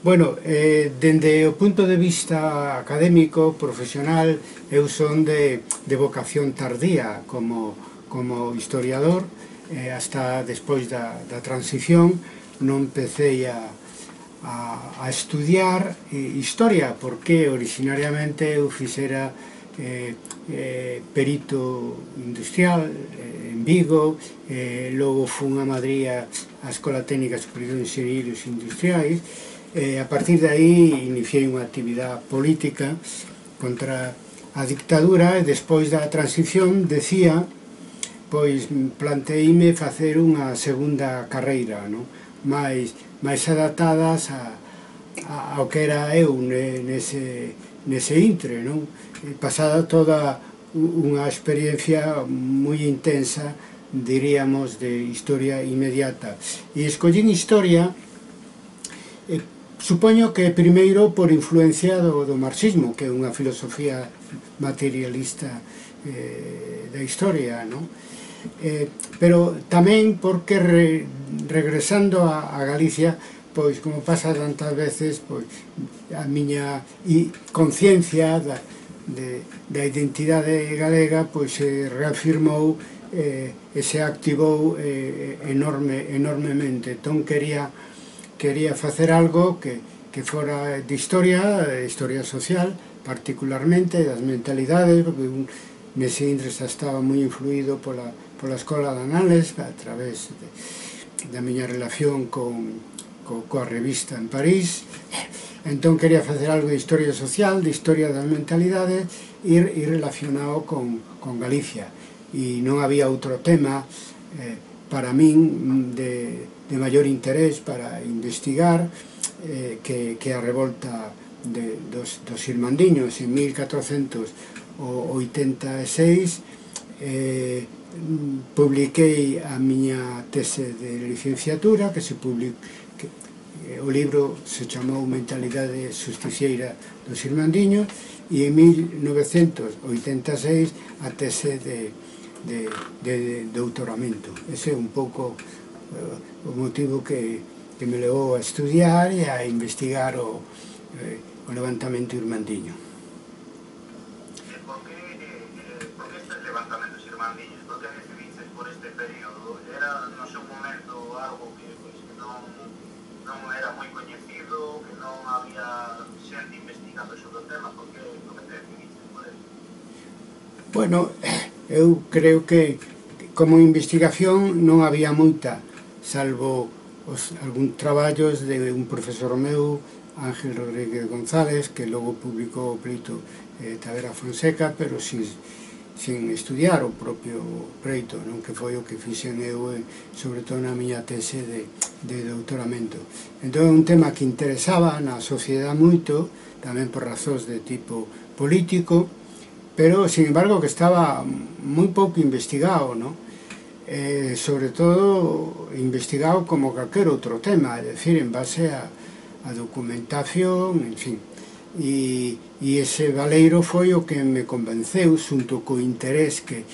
Bueno, dende o punto de vista académico, profesional, eu son de vocación tardía como historiador, hasta despois da transición non empecé a estudiar historia, porque originariamente eu fixera perito industrial en Vigo, logo fun a Madrid a Escola Técnica Superior de Enxeñeiros Industriais. A partir de aí iniciei unha actividade política contra a dictadura e despois da transición decía, pois planteíme facer unha segunda carreira, non? máis adaptadas ao que era eu nese intre, non? Pasada toda unha experiencia moi intensa, diríamos, de historia inmediata. E escollín historia, supoño que primeiro por influencia do marxismo, que é unha filosofía materialista da historia, non? Pero tamén porque regresando a Galicia, pois como pasa tantas veces, pois a miña conciencia da identidade galega pois se reafirmou e se activou enormemente. Entón quería facer algo que fora de historia social, particularmente das mentalidades, porque nese intre xa estaba moi influído pola Escola de Anales, a través da miña relación coa revista en París. Entón quería facer algo de historia social, de historia das mentalidades e relacionado con Galicia. E non había outro tema para min de maior interés para investigar que a revolta dos irmandiños en 1486. Publiquei a miña tese de licenciatura, que se publicou, o libro se chamou Mentalidade Justiciera dos Irmandiños, e en 1986 a tese de doutoramento. Ese é un pouco o motivo que me levou a estudiar e a investigar o levantamento irmandiño. Por que estes levantamentos irmandiños? Por que decidiches por este período? Era no seu momento algo que non era moi coñecido, que non había xente investigando sobre o tema? Por que te decidiches por eso? Bueno, eu creo que como investigación non había moita, salvo algún traballos de un profesor meu, Ángel Rodríguez González, que logo publicou o pleito Tavera Fonseca, pero sin estudiar o propio pleito, non? Que foi o que fixen eu, sobre todo na miña tese de doutoramento. Entón é un tema que interesaba na sociedade moito, tamén por razóns de tipo político, pero, sin embargo, que estaba moi pouco investigado, non? Sobre todo investigado como calquer outro tema, é dicir, en base a documentación, en fin. E ese baleiro foi o que me convenceu, xunto co interés que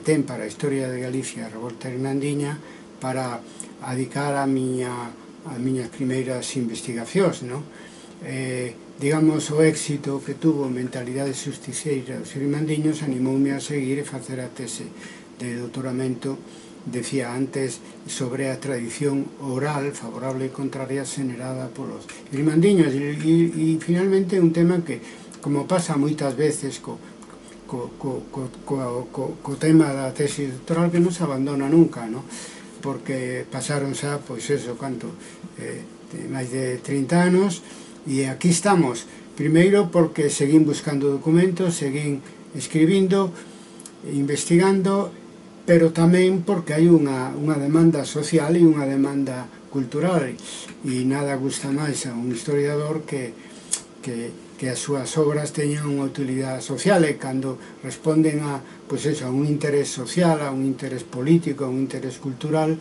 ten para a historia de Galicia, a revolta irmandiña, para adicar as miñas primeiras investigacións, non? Digamos, o éxito que tuvo Mentalidade Justiciera dos Irmandiños animoume a seguir e facer a tese de doutoramento, decía antes, sobre a tradición oral favorable e contraria xenerada polos irmandiños. E finalmente un tema que, como pasa moitas veces co tema da tese doctoral, que non se abandona nunca, non? Porque pasaron xa, pois eso, máis de 30 anos, e aquí estamos. Primeiro porque seguín buscando documentos, seguín escribindo, investigando, pero tamén porque hai unha demanda social e unha demanda cultural, e nada gusta máis a un historiador que as súas obras teñan unha utilidade social, e cando responden a un interés social, a un interés político, a un interés cultural,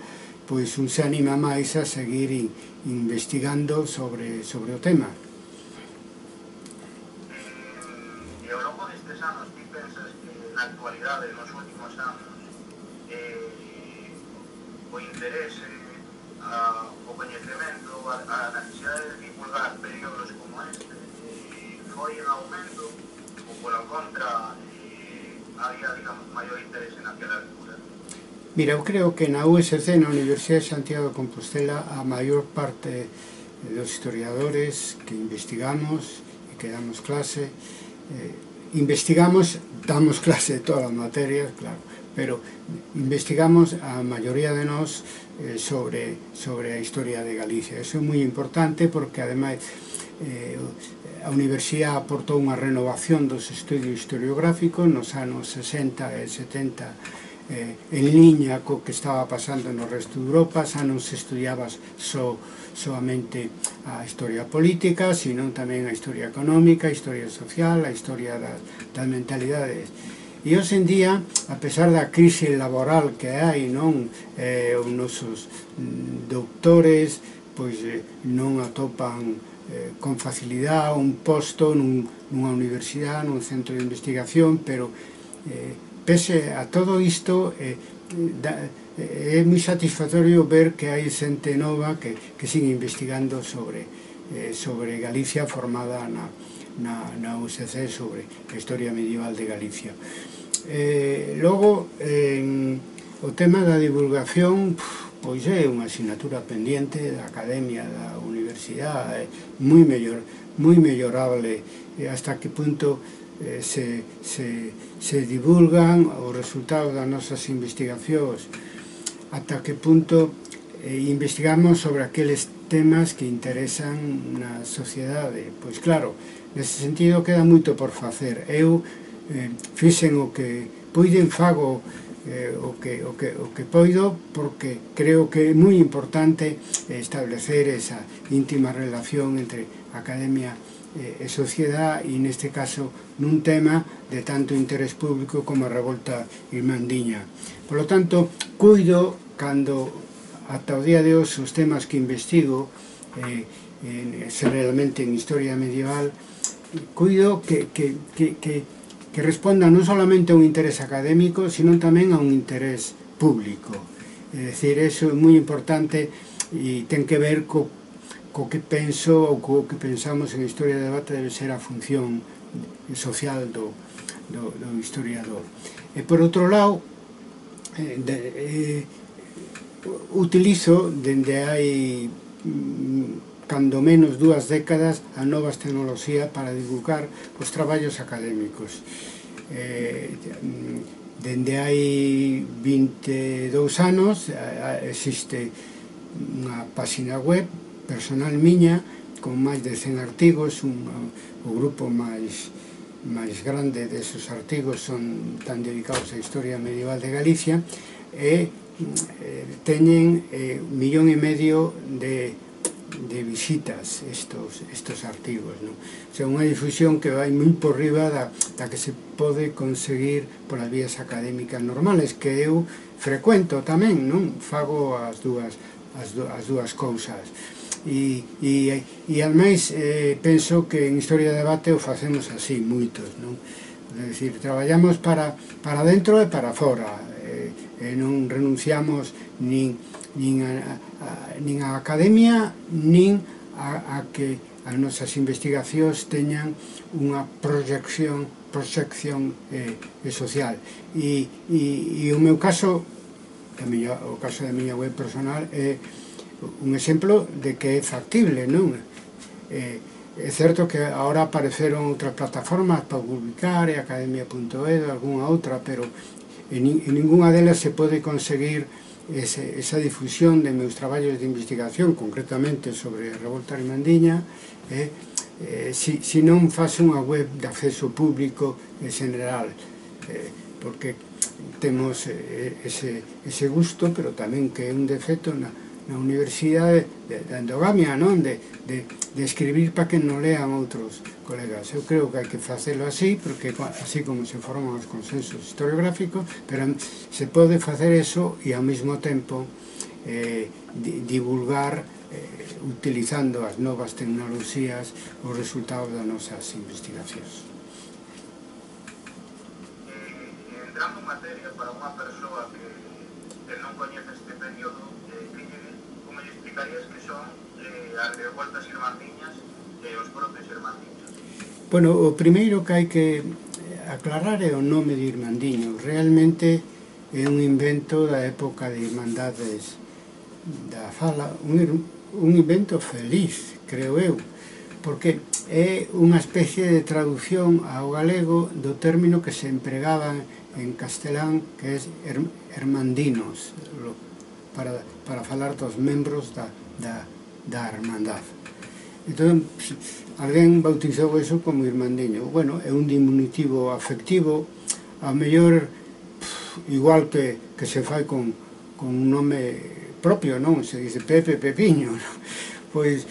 pois un se anima máis a seguir investigando sobre o tema. E ao longo destes anos, ti pensas que na actualidade, nos últimos anos, o interese o coñecemento, a necesidade de divulgar períodos como este foi en aumento ou pola contra había, digamos, maior interés en aquela altura? Mira, eu creo que na USC, na Universidade de Santiago de Compostela, a maior parte dos historiadores que investigamos e que damos clase, damos clase de todas as materias, claro, pero investigamos a maioría de nós sobre a historia de Galicia. Eso é moi importante porque, ademais, a Universidade aportou unha renovación dos estudios historiográficos nos anos 60 e 70 en liña co que estaba pasando no resto de Europa. Xa non se estudiaba soamente a historia política, sino tamén a historia económica, a historia social, a historia das mentalidades. E hoxe en día, a pesar da crise laboral que hai, non, os nosos doutores pois non atopan con facilidade un posto nunha universidade, nun centro de investigación, pero pese a todo isto é moi satisfactorio ver que hai xente nova que sigue investigando sobre Galicia, formada na USC, sobre a historia medieval de Galicia. Logo, o tema da divulgación pois é unha asignatura pendiente da academia, da universidade, moi mellorable, hasta que punto se divulgan os resultados das nosas investigacións, ata que punto investigamos sobre aqueles temas que interesan na sociedade. Pois claro, nese sentido queda moito por facer. Eu fixen o que poiden, fago o que poido, porque creo que é moi importante establecer esa íntima relación entre academia e sociedade, e neste caso nun tema de tanto interés público como a revolta irmandiña. Por lo tanto, cuido, cando ata o día de hoxe os temas que investigo, realmente en historia medieval, cuido que respondan non solamente a un interés académico, sino tamén a un interés público. É dicir, eso é moi importante e ten que ver co que penso ou co que pensamos en historia de debate debe ser a función social do historiador. E por outro lado, utilizo dende hai cando menos 2 décadas a novas tecnoloxías para divulgar os traballos académicos. Dende hai 22 anos existe unha página web personal miña con máis de 100 artigos. O grupo máis grande desos artigos están dedicados á historia medieval de Galicia, e teñen 1,5 millón de visitas estos artigos, non? O sea, unha difusión que vai moi por riba da que se pode conseguir polas vías académicas normales, que eu frecuento tamén, non? Fago as dúas cousas. E ademais penso que en historia de debate o facemos así moitos, non? É dicir, traballamos para dentro e para fora, e non renunciamos nin a academia, nin a que as nosas investigacións teñan unha proxección social. E o meu caso, o caso da miña web personal, é un exemplo de que é factible, non? É certo que agora apareceron outras plataformas para publicar, academia.edu, algunha outra, pero en ninguna delas se pode conseguir esa difusión de meus traballos de investigación, concretamente sobre a revolta irmandiña, se non faz unha web de acceso público en general, porque temos ese gusto, pero tamén que é un defecto na universidade da endogamia, non? De escribir para que non lean outros colegas. Eu creo que hai que facelo así, porque así como se forman os consensos historiográficos, pero se pode facer eso e ao mesmo tempo divulgar, utilizando as novas tecnoloxías, os resultados das nosas investigacións. Entrando en materia, para unha persoa que non coñece este período, como lle das revueltas irmandiñas e os propios irmandiños? Bueno, o primeiro que hai que aclarar é o nome de Irmandiño. Realmente é un invento da época de Irmandades da Fala, un invento feliz, creo eu, porque é unha especie de traducción ao galego do término que se empregaba en castelán, que é hermandinos, para falar dos membros da hermandad. Entón, alguén bautizou eso como Irmandiño. Bueno, é un diminutivo afectivo, a mellor igual que se fai con un nome propio, non? Se dice Pepe, Pepiño, pois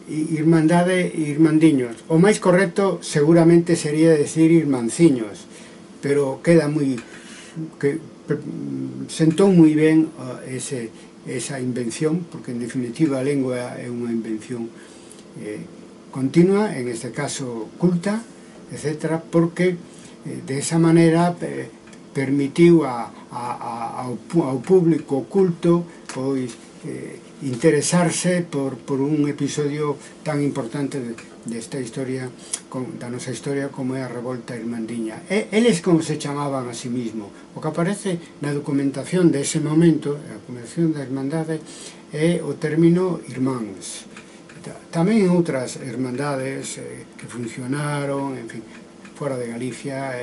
Irmandade e Irmandiños. O máis correcto seguramente sería decir Irmanciños, pero queda moi... sentou moi ben esa invención, porque en definitiva a lengua é unha invención continua, en este caso culta, etc., porque de esa manera permitiu ao público culto pois interesarse por un episodio tan importante desta historia, da nosa historia, como é a revolta irmandiña. Eles como se chamaban a sí mismo. O que aparece na documentación dese momento, a documentación da Irmandade, é o término irmáns. Tamén outras hermandades que funcionaron, en fin, fora de Galicia,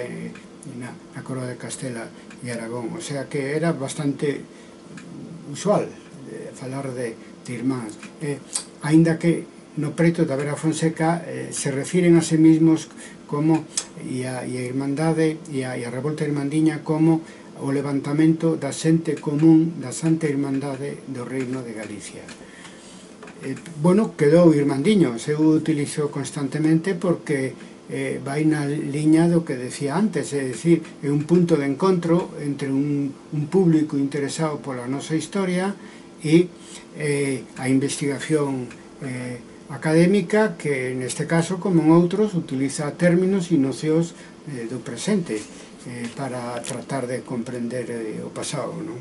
na Coroa de Castela e Aragón. O sea que era bastante usual falar de irmáns. Aínda que no preto da Vera Fonseca se refiren a sí mismos como e a Irmandade e a revolta irmandiña como o levantamento da xente común da Santa Irmandade do Reino de Galicia. Bueno, quedou Irmandiño, eu utilizo constantemente porque vai na liña do que decía antes, é dicir, é un punto de encontro entre un público interesado pola nosa historia e a investigación académica, que neste caso, como en outros, utiliza términos e nocións do presente para tratar de comprender o pasado, non?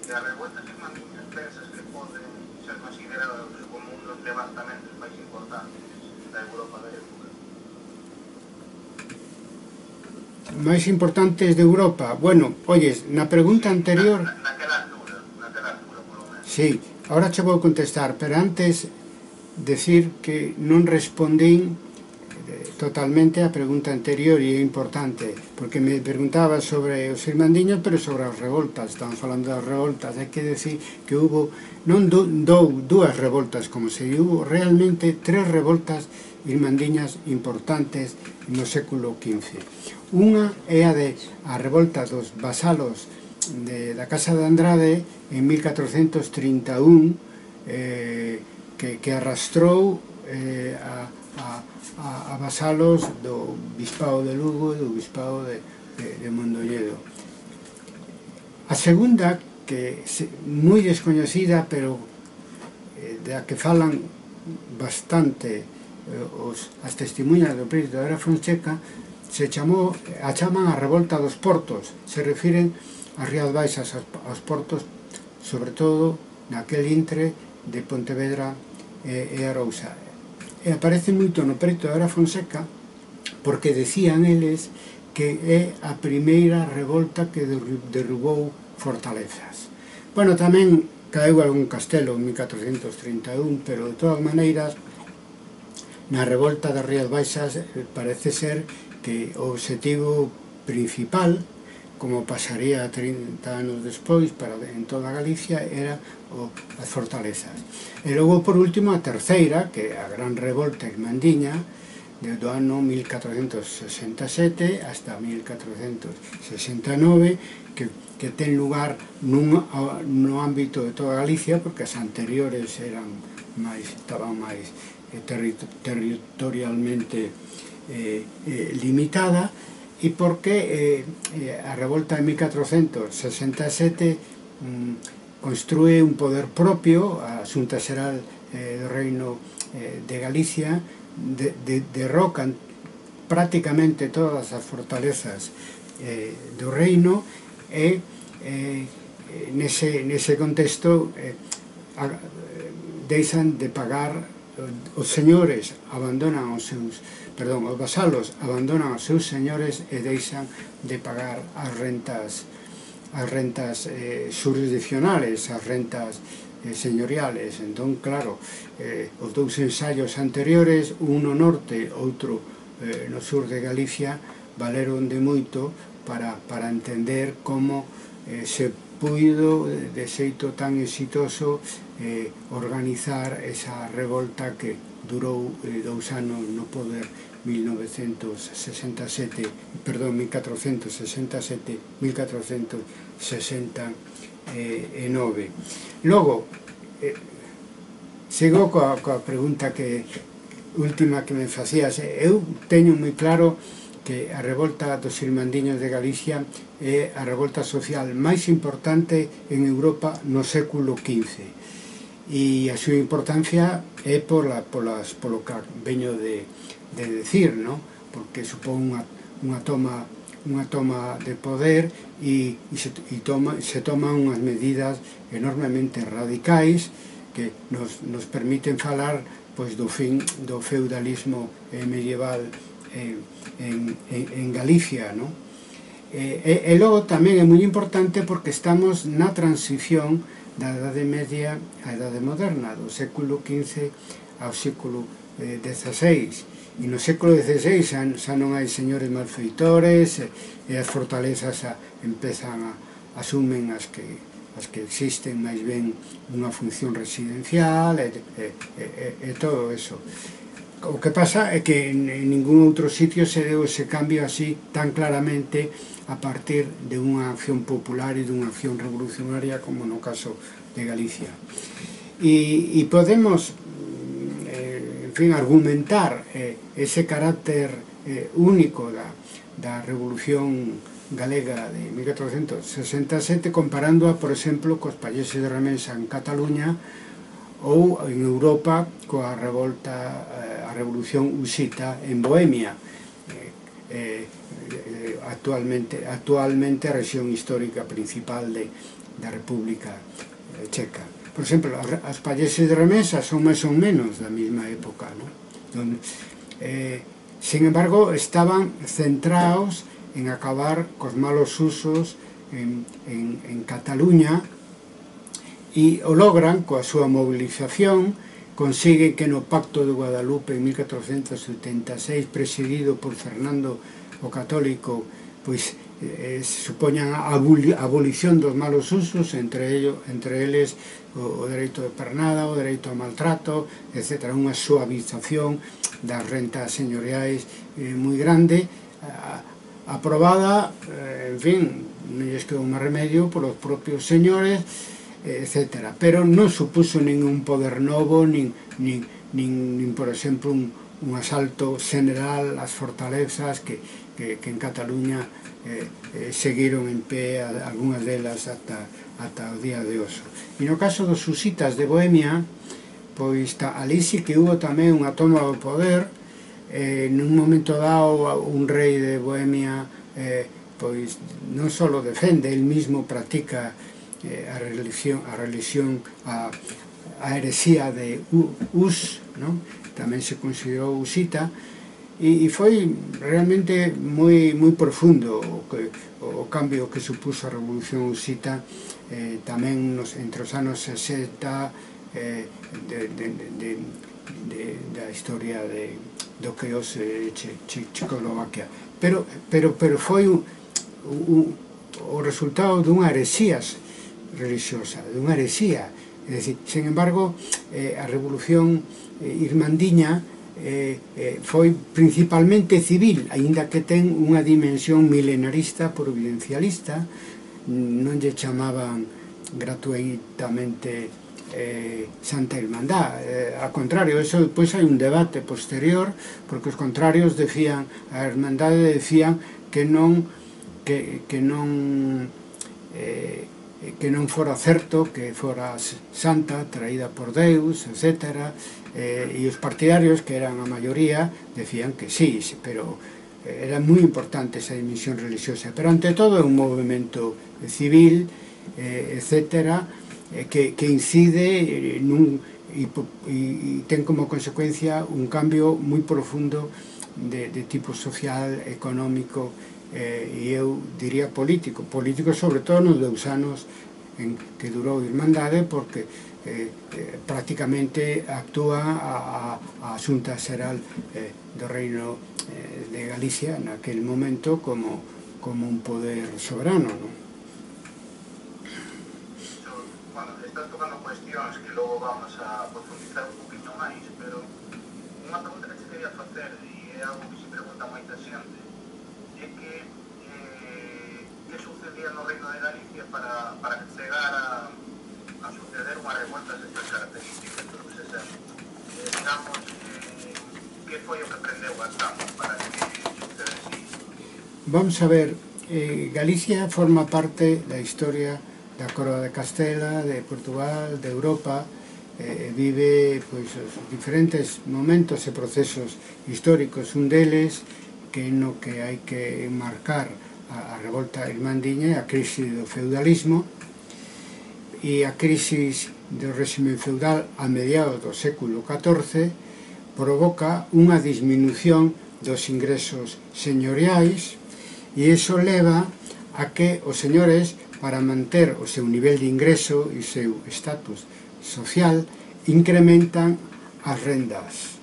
As revueltas irmandiñas pensas que poden ser consideradas como un dos levantamentos máis importantes da Europa da época? Máis importantes de Europa? Bueno, oyes, na pregunta anterior... Naquela altura, polo menos. Sí, ahora che vou contestar, pero antes decir que non respondín totalmente a pregunta anterior, e é importante, porque me preguntaba sobre os irmandiños, pero sobre as revoltas. Estamos falando das revoltas. Hai que decir que hubo non dúas revoltas, como se hubo realmente 3 revoltas irmandiñas importantes no século XV. Unha é a revolta dos vasalos da Casa de Andrade en 1431, que arrastrou a vasalos do Bispado de Lugo e do Bispado de Mondoñedo. A segunda, que é moi descoñecida, pero da que falan bastante as testemunhas do Príncipe da Vera Fonseca, a chaman a revolta dos portos. Se refiren as Rías Baixas, aos portos, sobre todo naquel intre de Pontevedra e Arousa. E aparece moito no preto da Vera Fonseca porque decían eles que é a primeira revolta que derrubou fortalezas. Bueno, tamén caeu algún castelo en 1431, pero de todas maneiras na revolta das Rías Baixas parece ser que o obxectivo principal, como pasaría 30 anos despois en toda Galicia, era as fortalezas. E logo, por último, a terceira, que é a gran revolta irmandiña, do ano 1467 hasta 1469, que ten lugar no ámbito de toda Galicia, porque as anteriores estaban máis territorialmente limitada, e porque a revolta de 1467 construe un poder propio. A Xunta Xeral do Reino de Galicia derrocan prácticamente todas as fortalezas do reino e nese contexto deixan de pagar, os señores abandonan os seus, perdón, os vasalos abandonan os seus señores e deixan de pagar as rentas jurisdiccionales, as rentas señoriales. Entón, claro, os dous ensaios anteriores, un no norte, outro no sur de Galicia, valeron de moito para entender como se puido de xeito tan exitoso organizar esa revolta que durou 2 anos no poder, 1467, 1469. Logo, sigo coa pregunta última que me facías. Eu teño moi claro que a revolta dos irmandiños de Galicia é a revolta social máis importante en Europa no século XV, e a súa importancia é polo que veño de decir, ¿no? Porque supón unha toma de poder e se toman unhas medidas enormemente radicais que nos permiten falar pois do fin do feudalismo medieval en Galicia, ¿no? E logo tamén é moi importante porque estamos na transición da Edade Media á Edade Moderna, do século XV ao século XVI. E no século XVI xa non hai señores malfeitores e as fortalezas asumen as que existen máis ben unha función residencial e todo eso. O que pasa é que en ningún outro sitio se deu ese cambio así tan claramente a partir de unha acción popular e dunha acción revolucionaria como no caso de Galicia. E podemos, en fin, argumentar ese carácter único da Revolución Galega de 1467 comparándoa, por exemplo, cos países de Remensa en Cataluña ou en Europa coa a Revolución Husita en Bohemia, actualmente a rexión histórica principal da República Checa. Por exemplo, os países de Remensa son máis ou menos da mesma época, ¿no? Sin embargo, estaban centrados en acabar cos malos usos en Cataluña, e o logran coa súa movilización. Consigue que no Pacto de Guadalupe en 1476, presidido por Fernando o Católico, pois supoñan a abolición dos malos usos, entre eles o dereito de pernada, o dereito ao maltrato, etc. Unha suavización das rentas señoriais moi grande, aprobada, en fin, non lles quedou máis remedio polos propios señores, etc. Pero non supuso ningún poder novo, nin por exemplo, un asalto general ás fortalezas que en Cataluña seguiron en pé, algunhas delas ata o día de hoxe. E no caso dos husitas de Bohemia, pois ali sí que hubo tamén unha toma do poder. Nun momento dado, un rei de Bohemia pois non só defende, el mismo practica a heresía de Hus, ¿no? Tamén se considerou husita, e foi realmente moi profundo o cambio que supuso a Revolución Husita, tamén entre os anos 60 da historia do que hoxe Checoslovaquia. Pero foi o resultado dunha heresía religiosa, dunha heresía. É dicir, sen embargo, a Revolución Irmandiña foi principalmente civil, aínda que ten unha dimensión milenarista, providencialista. Non lle chamaban gratuitamente Santa Irmandad, ao contrario, eso depois hai un debate posterior, porque os contrarios decían, a Irmandade decían que non fora certo, que fora santa, traída por Deus, etc. E os partidarios, que eran a maioría, decían que sí, pero era moi importante esa dimensión religiosa. Pero ante todo é un movimento civil etcétera, que incide e ten como consecuencia un cambio moi profundo de tipo social, económico e eu diría político sobre todo nos 2 anos en que durou Irmandade, porque prácticamente actúa a Xunta Xeral do Reino de Galicia naquele momento como un poder soberano, non? Bueno, estás tocando cuestións que logo vamos a profundizar un poquinho máis, pero unha pregunta que te quería facer, e é algo que se pregunta moita xente, é que sucedía no Reino de Galicia para que chegara a suceder unha revuelta destas características, por que se sabe. Digamos, que foi o que prendeu as chamas para que sucedese isto? Vamos a ver, Galicia forma parte da historia da Coroa de Castela, de Portugal, de Europa, vive pois, os diferentes momentos e procesos históricos. Un deles que no que hai que marcar a revolta irmandiña e a crise do feudalismo, e a crisis do réxime feudal a mediados do século XIV provoca unha disminución dos ingresos señoriais, e iso leva a que os señores, para manter o seu nivel de ingreso e o seu estatus social, incrementan as rendas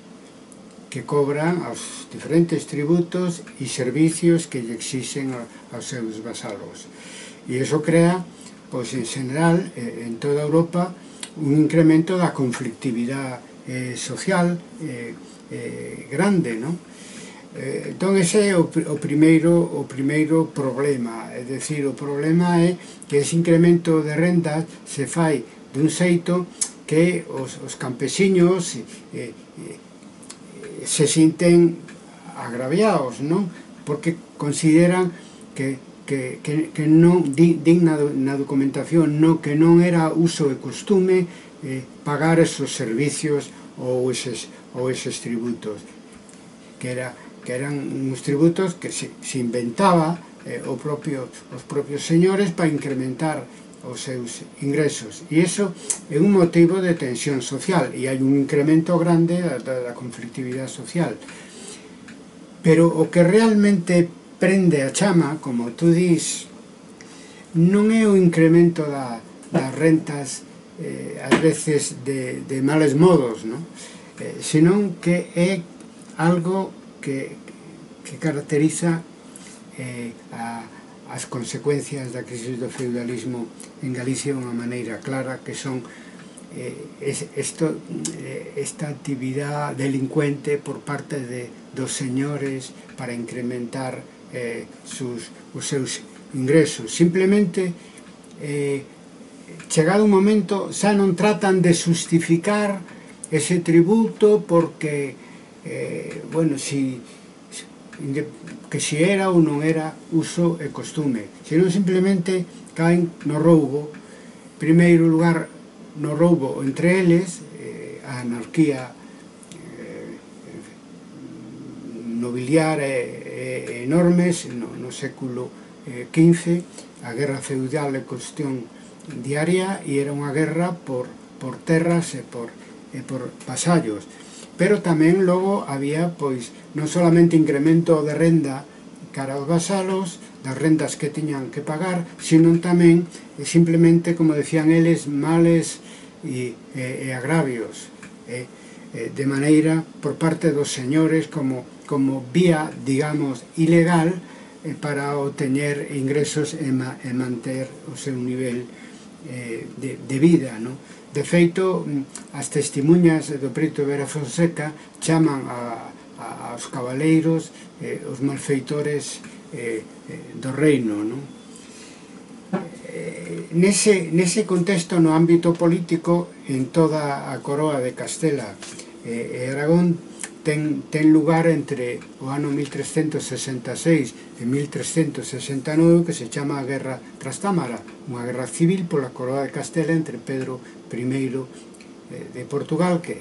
que cobran aos diferentes tributos e servicios que lle exixen aos seus vasalos. E iso crea, pois en general, en toda Europa, un incremento da conflictividade social grande, non? Entón ese é o primeiro problema, é dicir, o problema é que ese incremento de rendas se fai dun xeito que os campesiños se sinten agraviados, non? Porque consideran que non digna na documentación, que non era uso e costume pagar esos servicios ou eses tributos, que eran uns tributos que se inventaba os propios señores para incrementar os seus ingresos, e iso é un motivo de tensión social, e hai un incremento grande da conflictividade social. Pero o que realmente prende a chama, como tú dis, non é o incremento das rentas ás veces de males modos, non? Senón que é algo que caracteriza as consecuencias da crisis do feudalismo en Galicia de unha maneira clara, que son esta actividade delincuente por parte dos señores para incrementar os seus ingresos. Simplemente, chegado un momento, xa non tratan de justificar ese tributo porque, bueno, que si era ou non era uso e costume, senón simplemente caen no roubo. En primeiro lugar, no roubo entre eles, a anarquía nobiliar enormes no século XV, a guerra feudal é cuestión diaria, e era unha guerra por terras e por vasallos. Pero tamén logo había, pois, non solamente incremento de renda cara aos vasalos, das rendas que tiñan que pagar, sino tamén, simplemente, como decían eles, males e agravios, de maneira por parte dos señores como vía, digamos, ilegal para obtener ingresos e manter o seu nivel de vida, non? De feito, as testemunhas do Prieto Vera Fonseca chaman aos cabaleiros os malfeitores do reino, non? Nese contexto, no ámbito político, en toda a Coroa de Castela e Aragón, ten lugar entre o ano 1366 e 1369, que se chama a Guerra Trastámara, unha guerra civil pola Coroa de Castela entre Pedro I de Portugal, que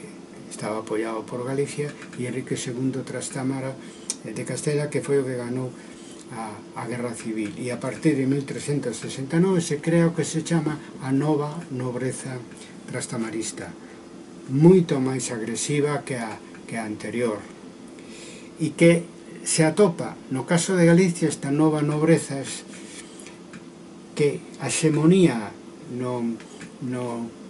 estaba apoiado por Galicia, e Enrique II Trastámara de Castela, que foi o que ganou a Guerra Civil, e a partir de 1369 se crea o que se chama a nova nobreza trastamarista, moito máis agresiva que a anterior, e que se atopa no caso de Galicia esta nova nobreza que a xemonía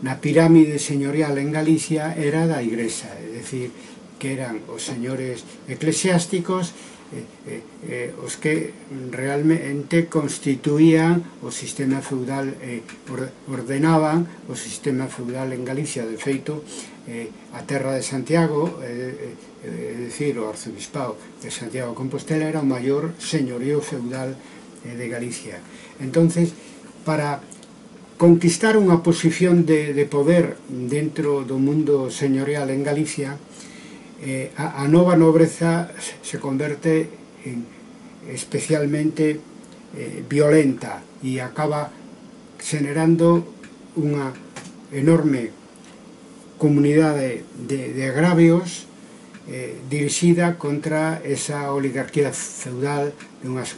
na pirámide señorial en Galicia era da Igrexa, é dicir, que eran os señores eclesiásticos os que realmente constituían o sistema feudal, ordenaban o sistema feudal en Galicia. De feito, a terra de Santiago, é dicir, o arzobispado de Santiago de Compostela era o maior señorío feudal de Galicia. Entonces, para conquistar unha posición de poder dentro do mundo señorial en Galicia, a nova nobreza se converte especialmente violenta e acaba generando unha enorme comunidade de agravios dirixida contra esa oligarquía feudal de unhas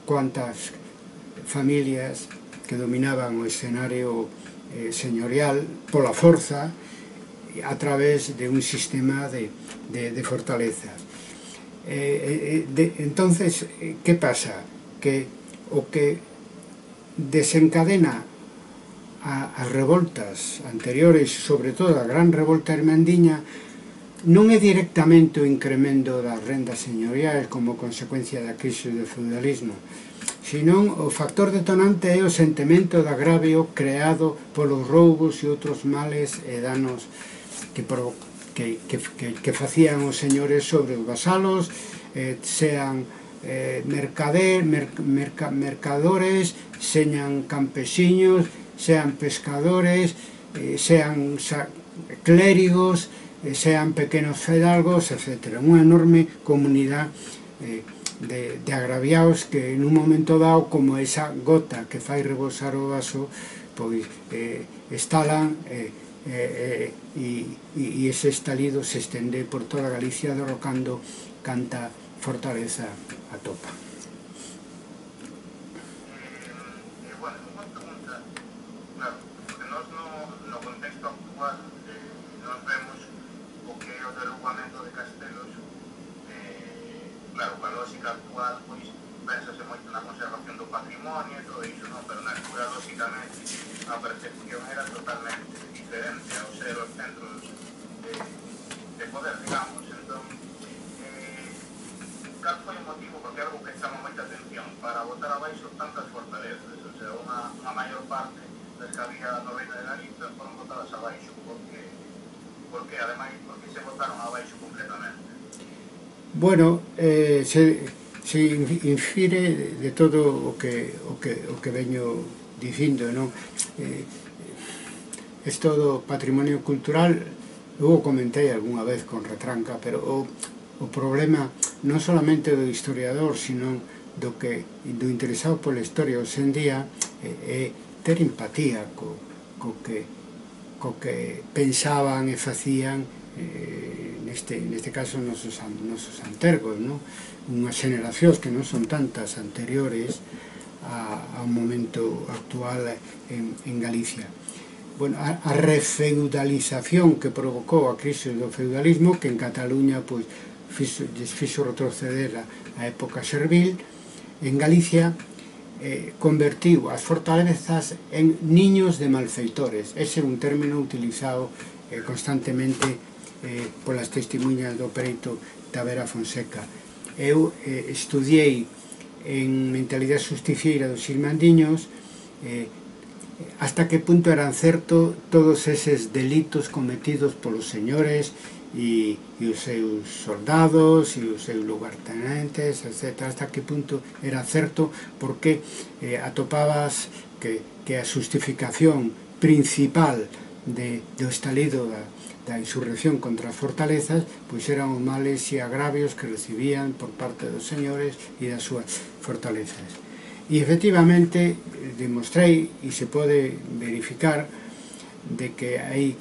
cuantas familias que dominaban o escenario señorial pola forza a través de un sistema de fortalezas. Entonces, ¿qué pasa? Que o que desencadena as revoltas anteriores, sobre todo a gran revolta irmandiña, non é directamente o incremento das rendas señoriais como consecuencia da crise do feudalismo, senón o factor detonante é o sentimento de agravio creado polos roubos e outros males e danos que facían os señores sobre os vasalos, sean mercadores, sean campesiños, sean pescadores, sean clérigos, sean pequenos fidalgos, etc. Unha enorme comunidade de agraviados que en un momento dado, como esa gota que fai rebosar o vaso, pois estalan e ese estalido se estende por toda Galicia, derrocando canta fortaleza atopa. Bueno, unha pregunta, claro, porque nós no contexto actual nós vemos o que é o derrubamento de castelos, claro, coa lógica actual, pois, pensase moito na conservación do patrimonio e todo iso, non? Pero na altura, lógicamente, a percepción era totalmente diferente ao ser os centros de poder, digamos. Entón, cal foi o motivo, porque é algo que chama moita atención, para botar abaixo tantas fortalezas? O sea, unha maior parte das que había no Reino de Galicia foron botadas abaixo, porque ademais, porque se botaron abaixo completamente. Bueno, se infire de todo o que veño dicindo, non? Isto do patrimonio cultural, eu o comentei algunha vez con retranca, pero o problema non solamente do historiador, sino do interesado pola historia hoxe en día, é ter empatía co que pensaban e facían, neste caso nosos antergos, unhas xeneracións que non son tantas anteriores ao momento actual en Galicia. Bueno, a refeudalización que provocou a crise do feudalismo, que en Cataluña fixo retroceder a época servil, en Galicia convertiu as fortalezas en niños de malfeitores. Ese é un término utilizado constantemente polas testemunhas do perito Tavera Fonseca. Eu estudiei en mentalidade justiciera dos irmandiños hasta que punto eran certo todos eses delitos cometidos polos señores e os seus soldados e os seus lugartenentes, etc. Hasta que punto era certo, porque atopabas que a justificación principal do estalido da insurrección contra as fortalezas pois eran os males e agravios que recibían por parte dos señores e das súas fortalezas. E efectivamente demostrei, e se pode verificar, de que hai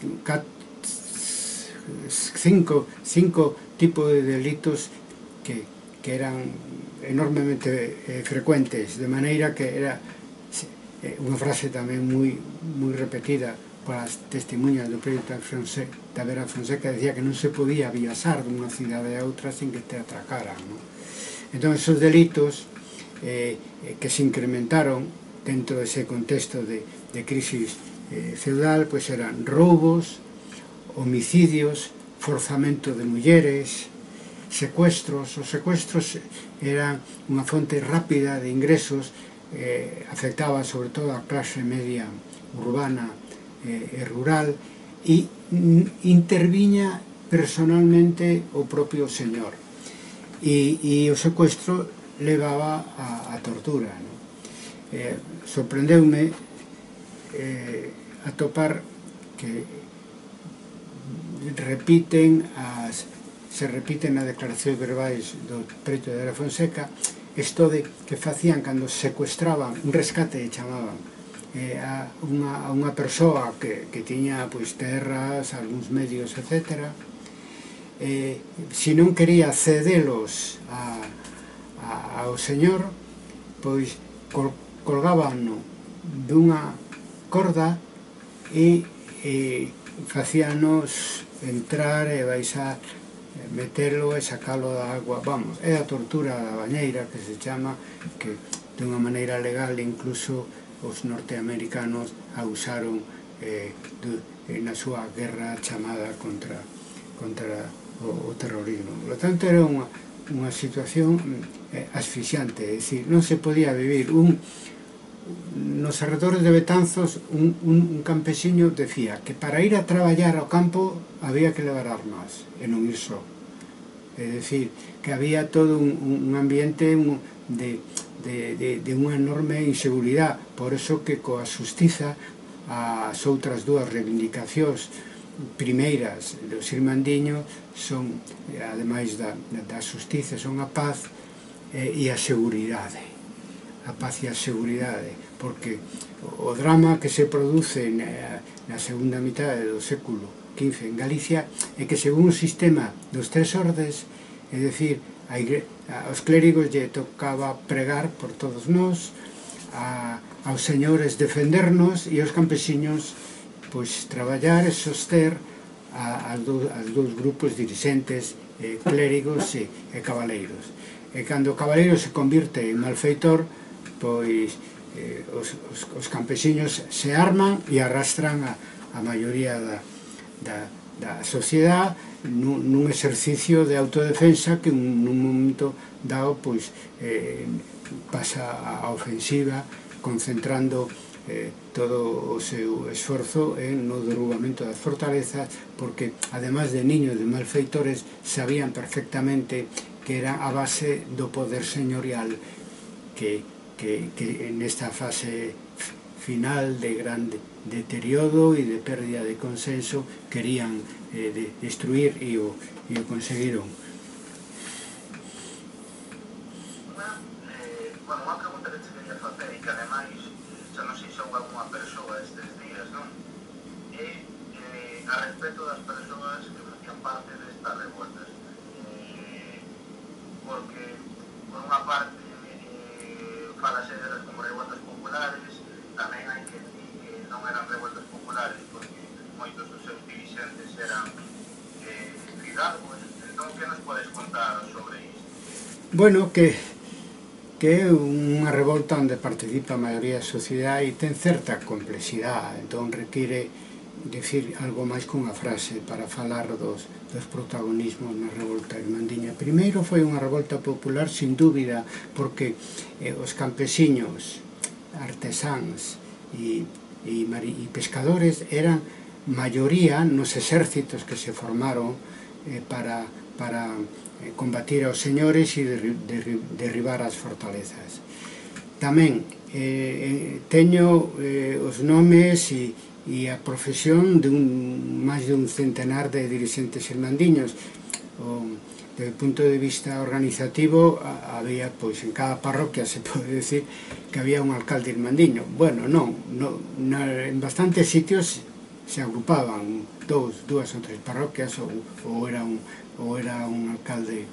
cinco tipos de delitos que eran enormemente frecuentes, de maneira que era unha frase tamén moi repetida polas testemunhas do proxecto da Vera Fonseca, decía que non se podía viaxar dunha cidade a outra sin que te atracaran, non? Entón, esos delitos que se incrementaron dentro dese contexto de crisis feudal, pois eran roubos, homicidios, forzamento de mulleres, secuestros. Os secuestros eran unha fonte rápida de ingresos, afectaba sobre todo a clase media urbana e rural, e interviña personalmente o propio señor, e o secuestro levaba a tortura, non? Sorprendeume atopar que se repiten nas declaracións verbais do preto de Vera Fonseca isto de que facían cando secuestraban, un rescate chamaban, a unha persoa que tiña pois terras, algúns medios, etc. Se non quería cedelos ao señor, pois colgábanno dunha corda e facíanos entrar e baixar, metelo e sacalo da agua. Vamos, é a tortura da bañeira, que se chama, que de unha maneira legal incluso os norteamericanos a usaron na súa guerra chamada contra o terrorismo. Por lo tanto, era unha situación asfixiante, é dicir, non se podía vivir. Nos arredores de Betanzos, un campesiño decía que para ir a traballar ao campo había que levar armas e non ir só. É dicir, que había todo un ambiente de unha enorme inseguridade. Por eso que coa xustiza as outras dúas reivindicacións primeiras dos irmandiños son, ademais da xustiza, son a paz e a seguridade. A paz e a seguridade, porque o drama que se produce na segunda mitade do século XV en Galicia é que según o sistema dos tres ordes, é dicir, aos clérigos lle tocaba pregar por todos nós, aos señores defendernos e aos campesiños pois traballar e soster aos dous grupos dirixentes, clérigos e cabaleiros. E cando o cabaleiro se convirte en malfeitor, pois os campesiños se arman e arrastran a maioría da sociedade nun exercicio de autodefensa que nun momento dado pois pasa a ofensiva, concentrando todo o seu esforzo no derrubamento das fortalezas, porque ademais de niños de malfeitores sabían perfectamente que era a base do poder señorial que nesta fase final de gran deterioro e de pérdida de consenso querían destruir e o conseguiron. Unha pregunta que te quería facer e que ademais xa non sei se houve alguna persoa estes días, non? É a respecto das persoas que facían parte destas revoltas, porque por unha parte falase delas como revoltas populares, tamén hai que decir que non eran revoltas populares porque moitos dos seus dirixentes eran fidalgos. Entón, que nos podes contar sobre isto? Bueno, que é unha revolta onde participa a maioría da sociedade e ten certa complexidade, entón require decir algo máis que unha frase para falar dos protagonismos na revolta irmandiña. Primeiro foi unha revolta popular, sin dúbida, porque os campesiños, artesáns e pescadores eran maioría nos exércitos que se formaron para combatir aos señores e derribar as fortalezas. Tamén teño os nomes e a profesión de máis de un centenar de dirixentes irmandiños. Desde o punto de vista organizativo había, pois, en cada parroquia se pode decir que había un alcalde irmandiño. Bueno, non, en bastantes sitios se agrupaban dúas ou tres parroquias ou era un alcalde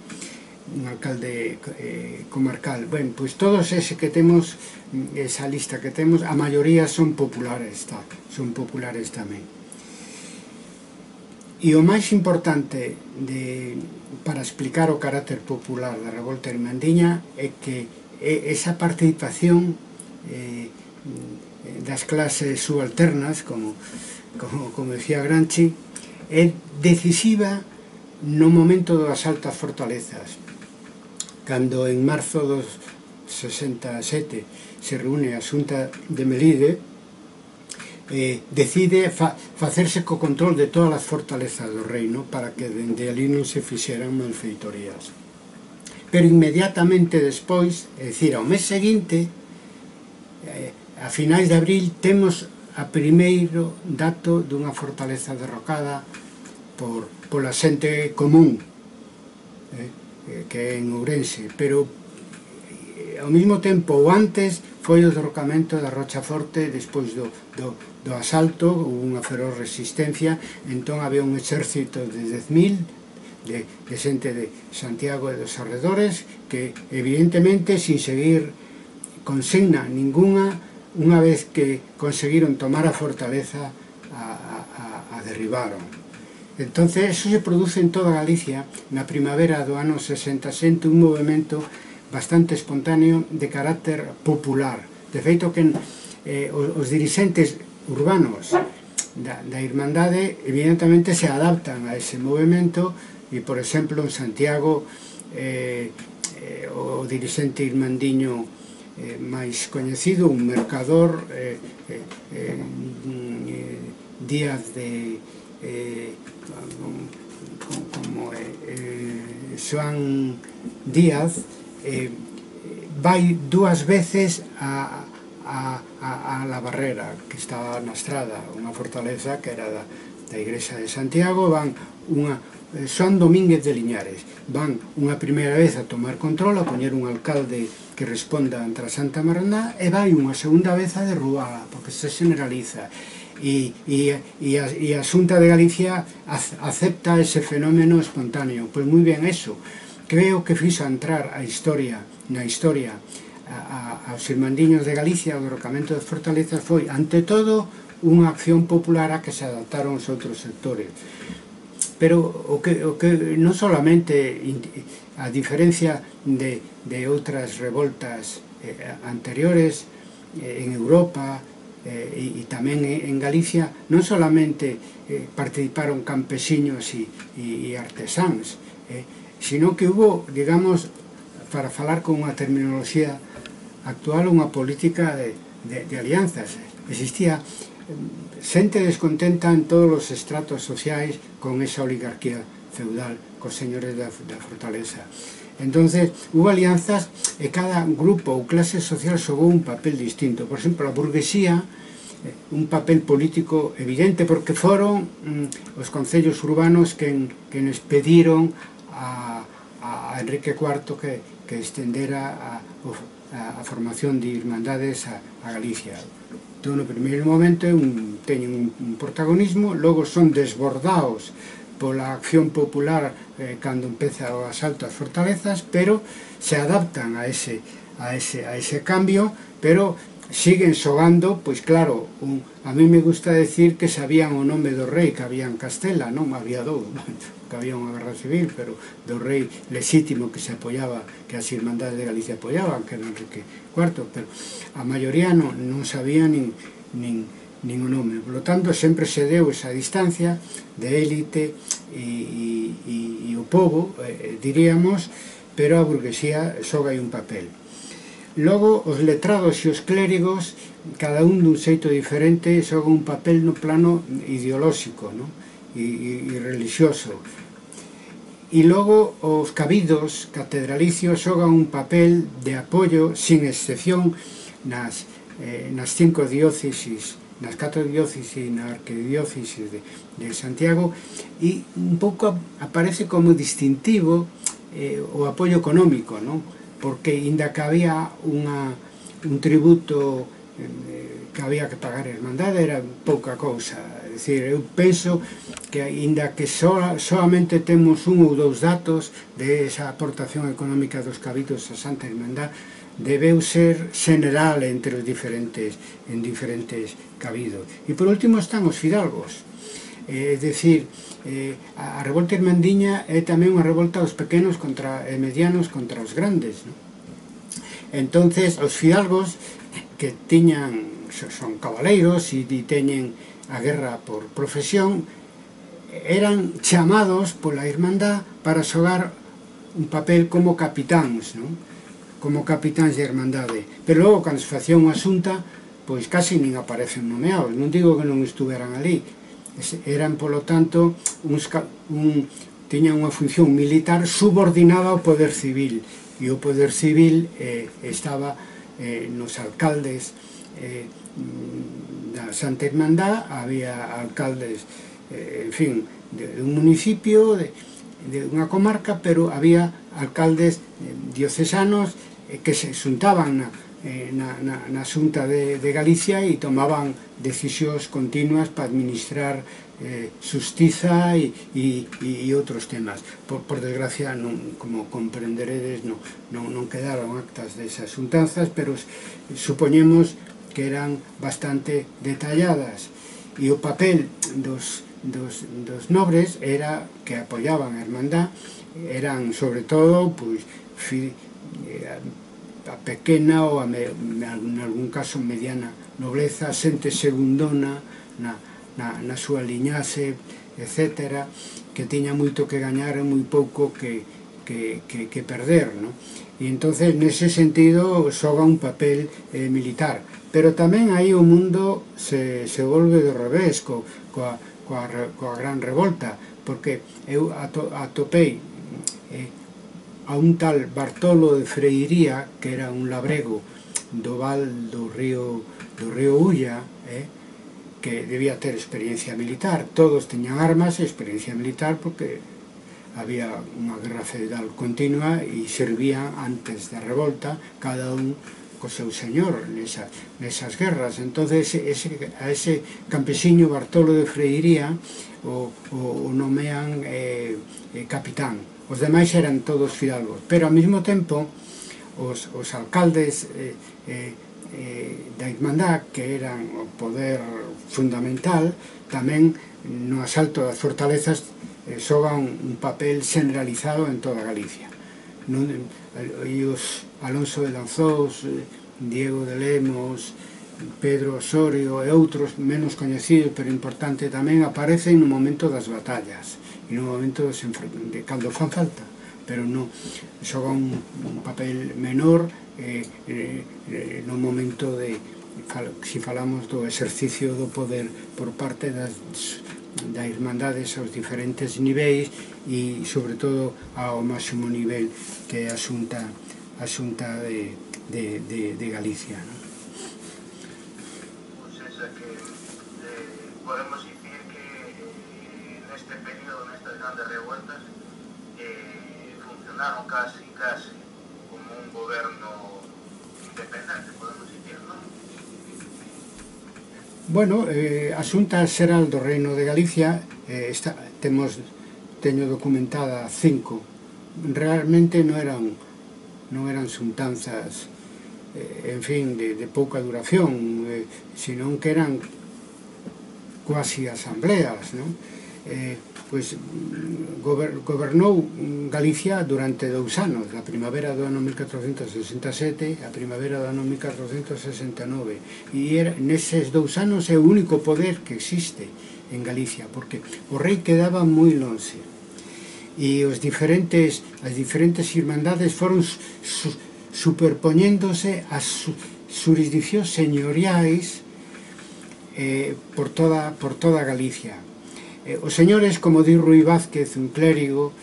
comarcal. Ben, pois todos ese que temos, esa lista que temos, a maioría son populares, son populares tamén. E o máis importante para explicar o carácter popular da revolta irmandiña é que esa participación das clases subalternas, como decía Gramsci, é decisiva no momento do asalto ás fortalezas, cando en marzo dos 67 se reúne a Xunta de Melide, decide facerse co control de todas as fortalezas do reino para que dende ali non se fixeran malfeitorías. Pero inmediatamente despois, é dicir, ao mes seguinte, a finais de abril, temos a primeiro dato dunha fortaleza derrocada pola xente común, que é en Ourense, pero ao mesmo tempo ou antes foi o derrocamento da Rochaforte despois do asalto, houve unha feroz resistencia, entón había un exército de 10.000 de xente de Santiago e dos arredores que evidentemente sin seguir consigna ninguna, unha vez que conseguiron tomar a fortaleza a derribaron. Entonces eso se produce en toda Galicia na primavera do ano 67, un movimento bastante espontáneo de carácter popular. De feito que os dirixentes urbanos da Irmandade evidentemente se adaptan a ese movimento e, por exemplo, en Santiago o dirixente irmandiño máis coñecido, un mercador, Díaz de Xoán Díaz, vai 2 veces a La Barrera, que estaba na estrada, unha fortaleza que era da Igrexa de Santiago. Van Xoán Domínguez de Liñares, van unha primeira vez a tomar control, a poñer un alcalde que responda ante a Santa Marandá, e vai unha segunda vez a derrubala, porque se generaliza. E a Xunta de Galicia acepta ese fenómeno espontáneo. Pois moi ben, eso creo que fixo entrar na historia aos irmandiños de Galicia. O derrocamento das fortalezas foi, ante todo, unha acción popular a que se adaptaron os outros sectores. Pero o que non solamente, a diferencia de outras revoltas anteriores en Europa e tamén en Galicia, non solamente participaron campesiños e artesáns, sino que hubo, digamos, para falar con unha terminoloxía actual, unha política de alianzas. Existía xente descontenta en todos os estratos sociais con esa oligarquía feudal, cos señores da fortaleza. Entonces, hubo alianzas e cada grupo ou clase social xogou un papel distinto. Por exemplo, a burguesía, un papel político evidente, porque foron os concellos urbanos que nos pediron a Enrique IV que estendera a formación de irmandades a Galicia. Entón, no primeiro momento teñen un protagonismo, logo son desbordados pola acción popular cando empeza o asalto ás fortalezas, pero se adaptan a ese cambio, pero siguen xogando, pois claro, a mí me gusta decir que sabían o nome do rei que había en Castela, non había dous, que había unha guerra civil, pero do rei lexítimo que se apoyaba, que as irmandades de Galicia apoyaban, que era Enrique IV, pero a maioría non sabía nin o nome. Por lo tanto, sempre se deu esa distancia de élite e o povo, diríamos, pero a burguesía xoga aí un papel. Logo, os letrados e os clérigos, cada un dun xeito diferente, xoga un papel no plano ideolóxico e religioso. E logo, os cabidos catedralicios xogan un papel de apoio, sin excepción, nas 5 diócesis, nas 4 diócesis e na arquidiócesis de Santiago, e un pouco aparece como distintivo o apoio económico, porque inda que había un tributo que había que pagar a Irmandade, era pouca cousa. É dicir, eu penso que aínda que solamente temos un ou dous datos de esa aportación económica dos cabidos a Santa Irmandad, debeu ser general entre os diferentes cabidos. E por último están os fidalgos, é dicir, a revolta irmandiña é tamén unha revolta dos pequenos e medianos contra os grandes, non? Entonces os fidalgos que son cabaleiros e teñen a guerra por profesión, eran chamados pola Irmandad para xogar un papel como capitáns, non? Como capitáns de Irmandade, pero logo cando se facía unha xunta, pois casi nin aparecen nomeados, non digo que non estuveran ali, eran polo tanto tiñan unha función militar subordinada ao poder civil, e o poder civil estaba nos alcaldes da Santa Irmandad. Había alcaldes, en fin, de un municipio, de unha comarca, pero había alcaldes diocesanos que se xuntaban na Xunta de Galicia e tomaban decisións continuas para administrar xustiza e outros temas. Por desgracia, como comprenderedes, non quedaron actas desas xuntanzas, pero supoñemos que eran bastante detalladas, e o papel dos nobres era que apoyaban a Irmandad, eran sobre todo a pequena ou en algún caso mediana nobleza, xente segundona na súa liñaxe, etc., que tiña moito que gañar e moi pouco que perder, non? E entonces nese sentido xoga un papel militar, pero tamén aí o mundo se volve do revés coa gran revolta, porque eu atopei a un tal Bartolo de Freiría, que era un labrego do val do río Ulla, que debía ter experiencia militar. Todos teñan armas e experiencia militar porque había unha guerra feudal continua e servían antes da revolta cada un co seu señor nesas guerras. Entonces a ese campesiño Bartolo de Freiría o nomean capitán. Os demais eran todos fidalgos, pero ao mesmo tempo os alcaldes da Irmandad, que eran o poder fundamental, tamén no asalto das fortalezas xogan un papel generalizado en toda Galicia. E os Alonso de Lanzós, Diego de Lemos, Pedro Osorio e outros menos coñecidos pero importante tamén aparecen no momento das batallas e no momento de cando fan falta, pero non xogan un papel menor no momento de, si falamos do exercicio do poder por parte das Irmandades aos diferentes niveis e sobre todo ao máximo nivel que é a Xunta de Galicia, non? Podemos dicir que neste período, nestas grandes revueltas, funcionaron casi como un goberno independente, podemos dicir, non? Bueno, a Xunta Xeral do Reino de Galicia teño documentada 5. Realmente non eran xuntanzas, en fin, de pouca duración, senón que eran cuasi asambleas, non? Pois gobernou Galicia durante 2 anos, a primavera do ano 1467 e a primavera do ano 1469, e neses 2 anos é o único poder que existe en Galicia, porque o rei quedaba moi lonxe e as diferentes irmandades foron superpoñéndose as xurisdiccións señoriais por toda Galicia. Os señores, como di Rui Vázquez, un clérigo,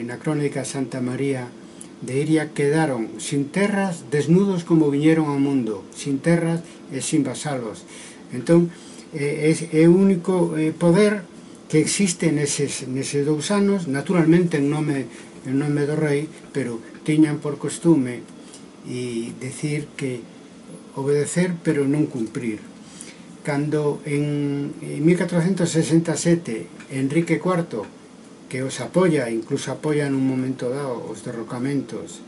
na crónica Santa María de Iria, quedaron sin terras, desnudos como viñeron ao mundo, sin terras e sin vasalos. Entón, é o único poder que existe neses 2 anos, naturalmente en nome do rei, pero tiñan por costume e decir que obedecer pero non cumprir. cando en 1467 Enrique IV, que os apoia, incluso apoia nun momento dado os derrocamentos,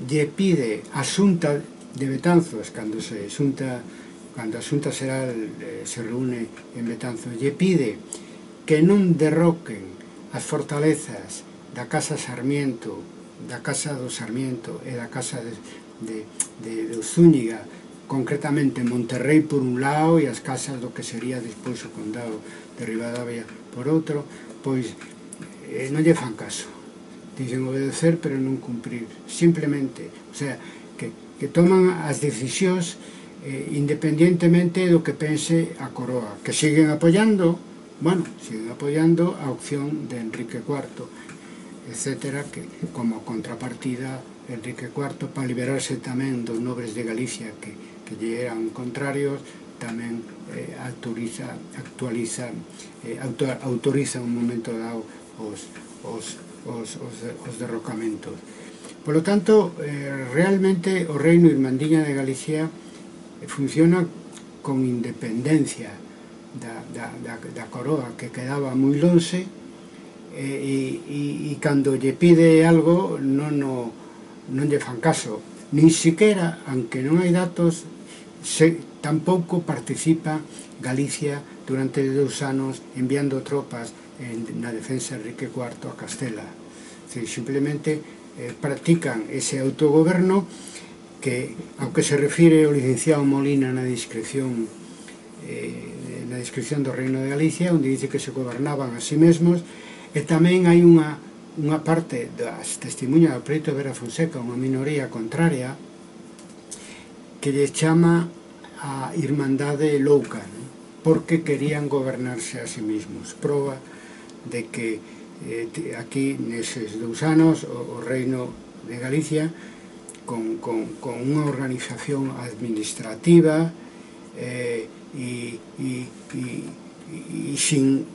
lle pide a Xunta de Betanzos, cando a Xunta Xeral se reúne en Betanzos, lle pide que non derroquen as fortalezas da Casa Sarmiento, da Casa do Sarmiento e da Casa de Zúñiga, concretamente Monterrey por un lado e as casas do que sería despois o condado de Ribadavia por outro, pois non lle fan caso. Dicen obedecer pero non cumprir. Simplemente, o sea, que toman as decisións independientemente do que pense a coroa, que siguen apoiando, bueno, siguen apoiando a opción de Enrique IV, etcétera, que como contrapartida Enrique IV, para liberarse tamén dos nobres de Galicia que lle eran contrarios, tamén autoriza un momento dado os derrocamentos. Por lo tanto, realmente o reino Irmandiña de Galicia funciona con independencia da coroa, que quedaba moi lonxe, e cando lle pide algo non lle fan caso, nin siquiera, aunque non hai datos, tampouco participa Galicia durante 2 anos enviando tropas na defensa de Enrique IV a Castela. Simplemente practican ese autogoberno que, aunque se refire ao licenciado Molina na descripción do Reino de Galicia, onde dice que se gobernaban a sí mesmos, e tamén hai unha parte das testemunhas do Preto de Vera Fonseca, unha minoría contraria, que lle chama a Irmandade louca, porque querían gobernarse a sí mesmos. Proba de que aquí, neses 2 anos, o Reino de Galicia, con unha organización administrativa e sin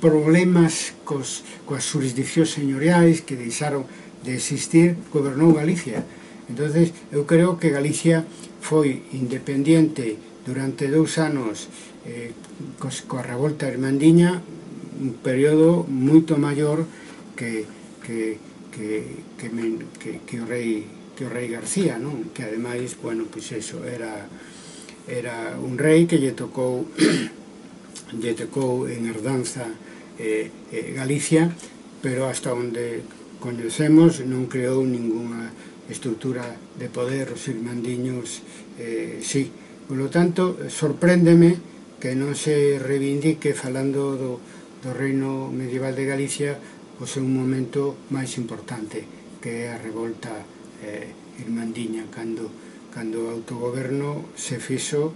problemas coas jurisdiccións señoriais que deixaron de existir, gobernou Galicia. Entonces, eu creo que Galicia foi independiente durante 2 anos coa revolta irmandiña, un período moito maior que o rei García, non? Que ademais, bueno, pois eso, era un rei que lle tocou en herdanza Galicia, pero hasta onde coñecemos non creou ninguna estrutura de poder. Os irmandiños sí. Por lo tanto, sorpréndeme que non se reivindique, falando do reino medieval de Galicia, o seu momento máis importante, que é a revolta irmandiña, cando o autogoberno se fixo,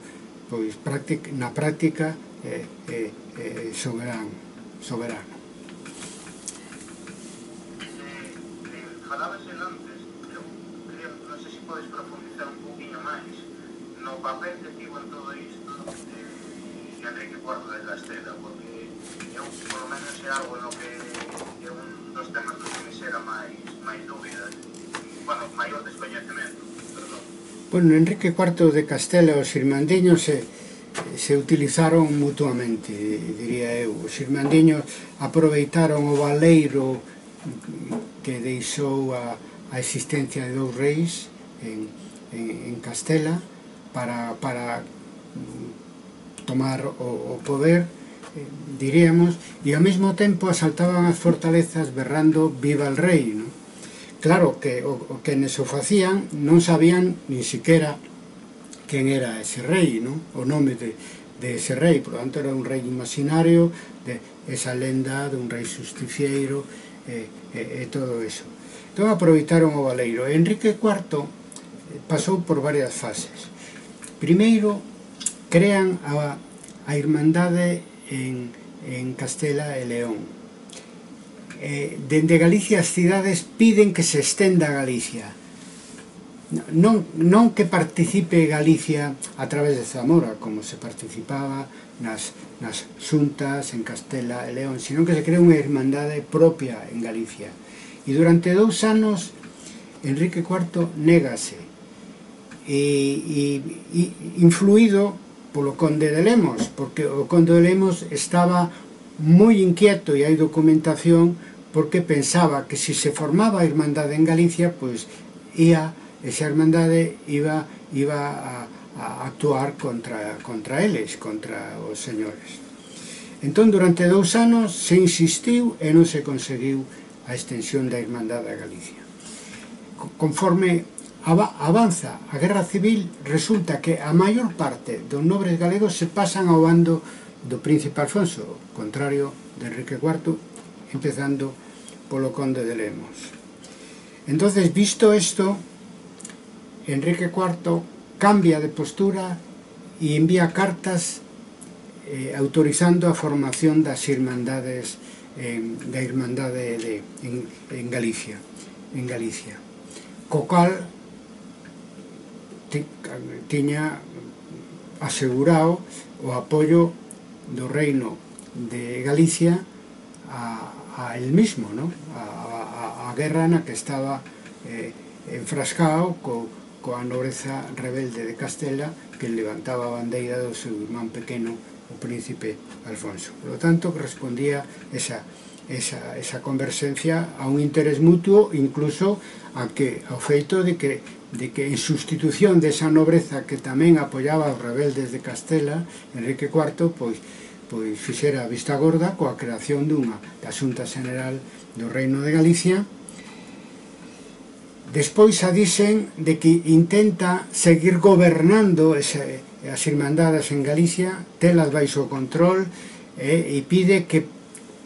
pois, na práctica soberano. Falabas antes, eu quería, non sei se podes profundizar un pouquinho máis no papel que tivo en todo isto Enrique IV de Castela, porque eu, por lo menos, é algo no que é un dos temas dos que me xera máis dúbidas, bueno, maior descoñecemento, perdón. Bueno, Enrique IV de Castela e os irmandiños se utilizaron mutuamente, diría eu. Os irmandiños aproveitaron o valeiro que deixou a existencia de 2 reis en Castela para tomar o poder, diríamos, e ao mesmo tempo asaltaban as fortalezas berrando viva el rei, non? Claro que o que neso facían non sabían nin siquiera quen era ese rei, non? O nome de ese rei, por lo tanto era un rei imaginario, de esa lenda de un rei justicieiro e todo eso. Entón aproveitaron o valeiro. Enrique IV pasou por varias fases. Primeiro, crean a Irmandade en Castela e León. Dende Galicia as cidades piden que se estenda a Galicia, non que participe Galicia a través de Zamora, como se participaba nas xuntas en Castela e León, sino que se crea unha irmandade propia en Galicia. E durante 2 anos Enrique IV négase, influído polo conde de Lemos, porque o conde de Lemos estaba moi inquieto, e hai documentación, porque pensaba que se se formaba a Irmandade en Galicia, pois esa Irmandade iba a actuar contra eles, contra os señores. Entón, durante 2 anos se insistiu e non se conseguiu a extensión da Irmandade a Galicia. Conforme avanza a Guerra Civil, resulta que a maior parte dos nobres galegos se pasan ao bando do príncipe Alfonso, contrario de Enrique IV, empezando polo conde de Lemos. Entonces, visto isto, Enrique IV cambia de postura e envía cartas autorizando a formación das irmandades da Irmandade en Galicia, co cal tiña asegurado o apoio do reino de Galicia a el mismo, ¿no? a guerra na que estaba enfrascado coa nobreza rebelde de Castela, que levantaba a bandeira do seu irmán pequeno, o príncipe Alfonso. Por lo tanto, respondía esa conversencia a un interés mutuo, incluso ao feito de que en sustitución desa nobreza que tamén apoiaba os rebeldes de Castela, Enrique IV pois fixera a vista gorda coa creación da Xunta General do Reino de Galicia. Despois a dicen de que intenta seguir gobernando as irmandades en Galicia, telas baixo control, e pide que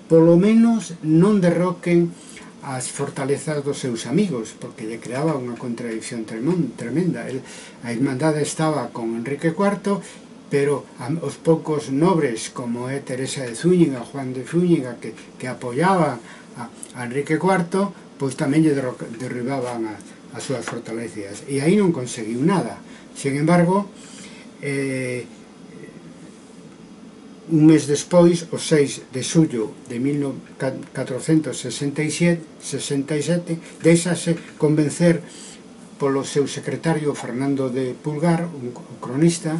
polo menos non derroquen as fortalezas dos seus amigos, porque lle creaba unha contradicción tremenda. A irmandade estaba con Enrique IV, pero os poucos nobres, como é Teresa de Zúñiga, Juan de Zúñiga, que apoiaban a Enrique IV, pois tamén lle derribaban as súas fortalezas, e aí non conseguiu nada. Sin embargo, un mes despois, o 6 de xullo de 1467, deixase convencer polo seu secretario Fernando de Pulgar, un cronista,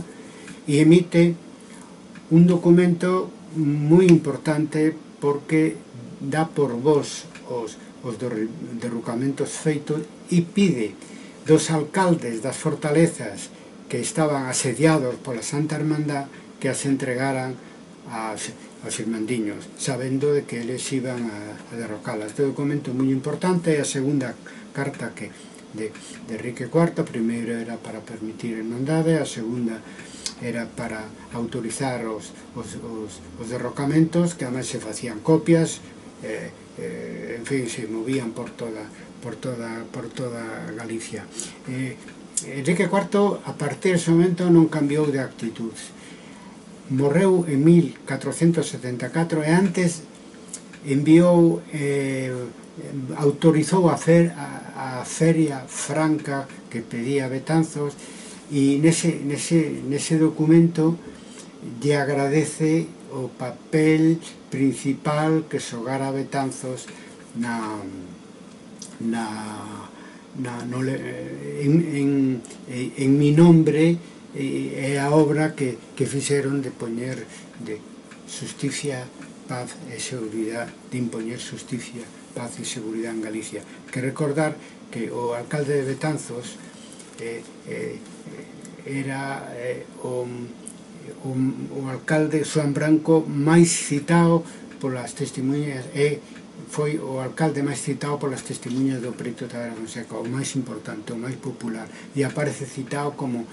e emite un documento moi importante, porque dá por vos os derrocamentos feitos e pide dos alcaldes das fortalezas que estaban asediados pola Santa Hermandad que as entregaran aos irmandiños, sabendo de que eles iban a derrocalas. Este documento é moi importante, é a segunda carta de Enrique IV. A primeira era para permitir a irmandade, a segunda era para autorizar os derrocamentos, que además se facían copias, en fin, se movían por toda Galicia. Enrique IV, a partir dese momento, non cambiou de actitud. Morreu en 1474 e antes enviou, autorizou a feria franca que pedía Betanzos, e nese documento lle agradece o papel principal que xogara Betanzos en mi nombre, é a obra que fixeron de poñer de justicia, paz e seguridade, de impoñer justicia, paz e seguridade en Galicia. Que recordar que o alcalde de Betanzos era o alcalde Xoán Branco máis citado polas testemunhas, foi o alcalde máis citado polas testemunhas do preto Tavera Fonseca, o máis importante, o máis popular, e aparece citado como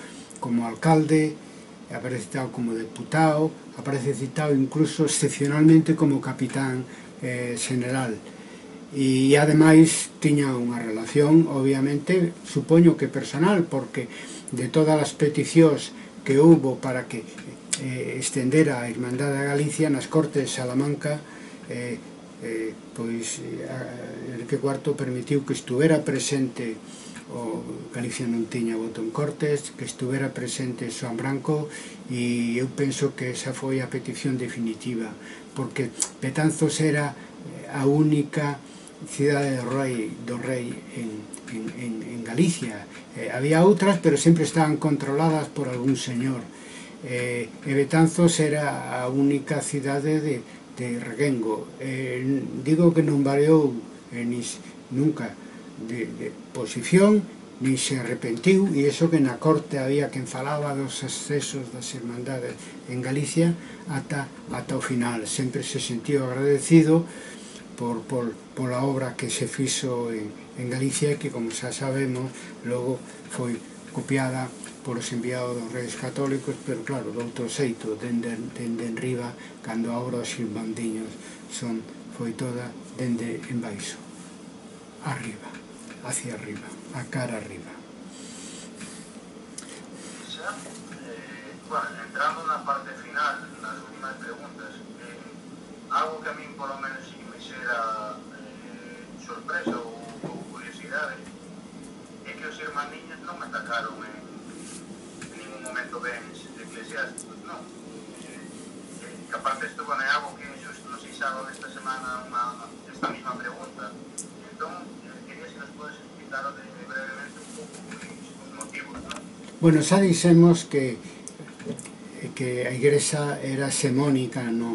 alcalde, aparece citado como deputado, aparece citado incluso excepcionalmente como capitán general. E ademais tiña unha relación, obviamente, supoño que personal, porque de todas as peticións que houbo para que estendera a Irmandade a Galicia nas Cortes de Salamanca, pois Enrique IV permitiu que estuvera presente, Galicia non tiña voto en Cortes, que estuvera presente Xoán Branco, e eu penso que esa foi a petición definitiva, porque Betanzos era a única cidade do rei en Galicia. Había outras, pero sempre estaban controladas por algún señor. Betanzos era a única cidade de Reguengo. Digo que non variou nunca de posición, ni se arrepentiu, e iso que na corte había quen falaba dos excesos das irmandades en Galicia ata o final. Sempre se sentiu agradecido pola obra que se fixo en Galicia, que, como xa sabemos, logo foi copiada polos enviados dos Reis Católicos, pero claro, do outro xeito, dende enriba, cando a obra dos irmandiños foi toda dende en baixo, arriba, hacia arriba, a cara arriba. Bueno, entrando na parte final, nas últimas preguntas, algo que a min polo menos sí que me xera sorpresa ou curiosidade é que os irmandiños non atacaron en ningún momento bens eclesiásticos, non? Que aparte isto é algo que xusto nos fixaron esta semana esta mesma pregunta. Entón, quería se nos podes explicar brevemente un pouco os motivos, non? Bueno, xa dixemos que a Igrexa era xemónica no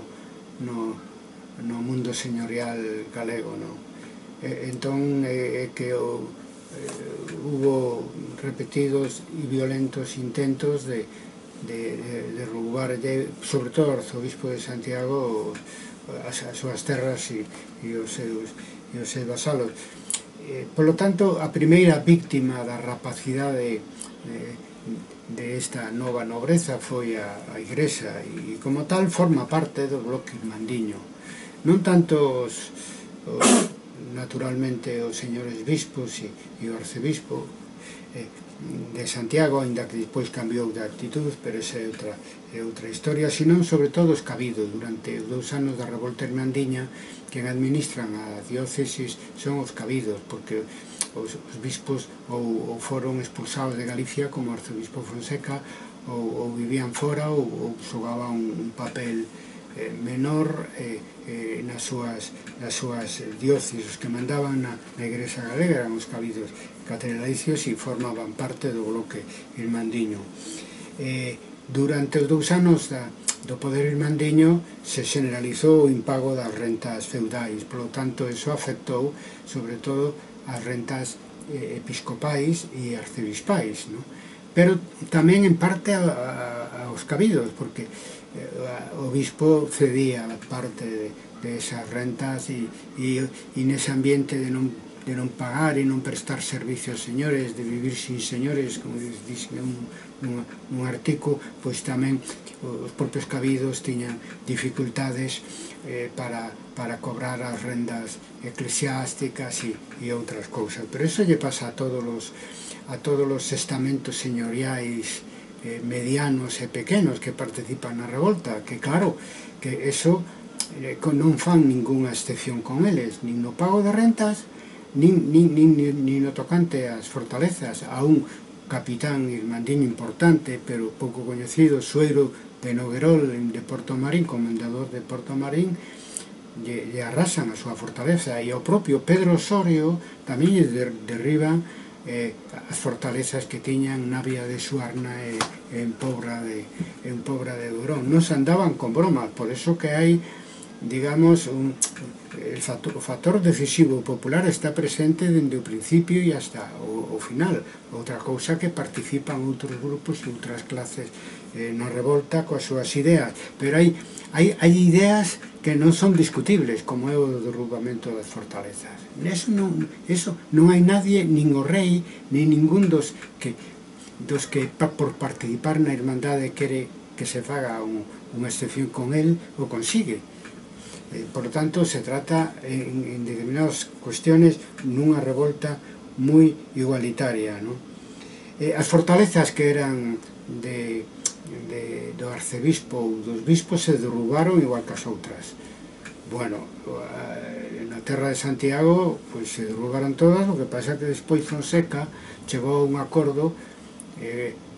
mundo señorial galego, non? Entón, que hubo repetidos e violentos intentos de roubar, sobre todo o arzobispo de Santiago, as súas terras e os seus vasalos. Por lo tanto, a primeira víctima da rapacidade de esta nova nobreza foi a Igrexa, e como tal forma parte do bloque irmandiño. Non tanto naturalmente os señores bispos e o arcebispo de Santiago, ainda que despois cambiou de actitud, pero esa é outra historia, senón sobre todo os cabidos. Durante os 2 anos da revolta irmandiña, quen administran a diócesis son os cabidos, porque os bispos ou foron expulsados de Galicia, como o arzobispo Fonseca, ou vivían fora ou xogaban un papel menor nas súas diócesis. Os que mandaban na Igrexa galega eran os cabidos catedralicios e formaban parte do bloque irmandiño. Durante os 2 anos do poder irmandiño se generalizou o impago das rentas feudais, polo tanto, eso afectou sobre todo as rentas episcopais e arcebispais, non? Pero tamén en parte aos cabidos, porque o bispo cedía parte de esas rentas e nese ambiente de non pagar e non prestar servicio aos señores, de vivir sin señores, como dixen nun artigo, pois tamén os propios cabidos tiñan dificultades para cobrar as rendas eclesiásticas e outras cousas. Pero iso lle pasa a todos os estamentos señoriais medianos e pequenos que participan na revolta, que claro, que eso non fan ningunha excepción con eles, nin no pago de rentas, nin no tocante ás fortalezas. A un capitán irmandiño importante, pero pouco coñecido, Sueiro de Noguerol, de Porto Marín, comendador de Porto Marín, lle arrasan a súa fortaleza, e ao propio Pedro Osorio tamén lle derriban as fortalezas que tiñan Navia de Suarna e en Pobra de Durón. Non se andaban con bromas, por eso que hai, digamos, o factor decisivo popular está presente dende o principio e hasta o final. Outra cousa que participan outros grupos e outras clases na revolta coas súas ideas, pero hai ideas que non son discutibles, como é o derrubamento das fortalezas. Eso non hai nadie, nin o rei, nin ningún dos que por participar na irmandade quere que se faga unha excepción con el, o consigue. Por lo tanto, se trata en determinadas cuestiones nunha revolta moi igualitaria, ¿no? As fortalezas que eran do arcebispo ou dos bispos se derrubaron igual que as outras. Bueno, na terra de Santiago pois se derrubaron todas, o que pasa que despois Fonseca chegou a un acordo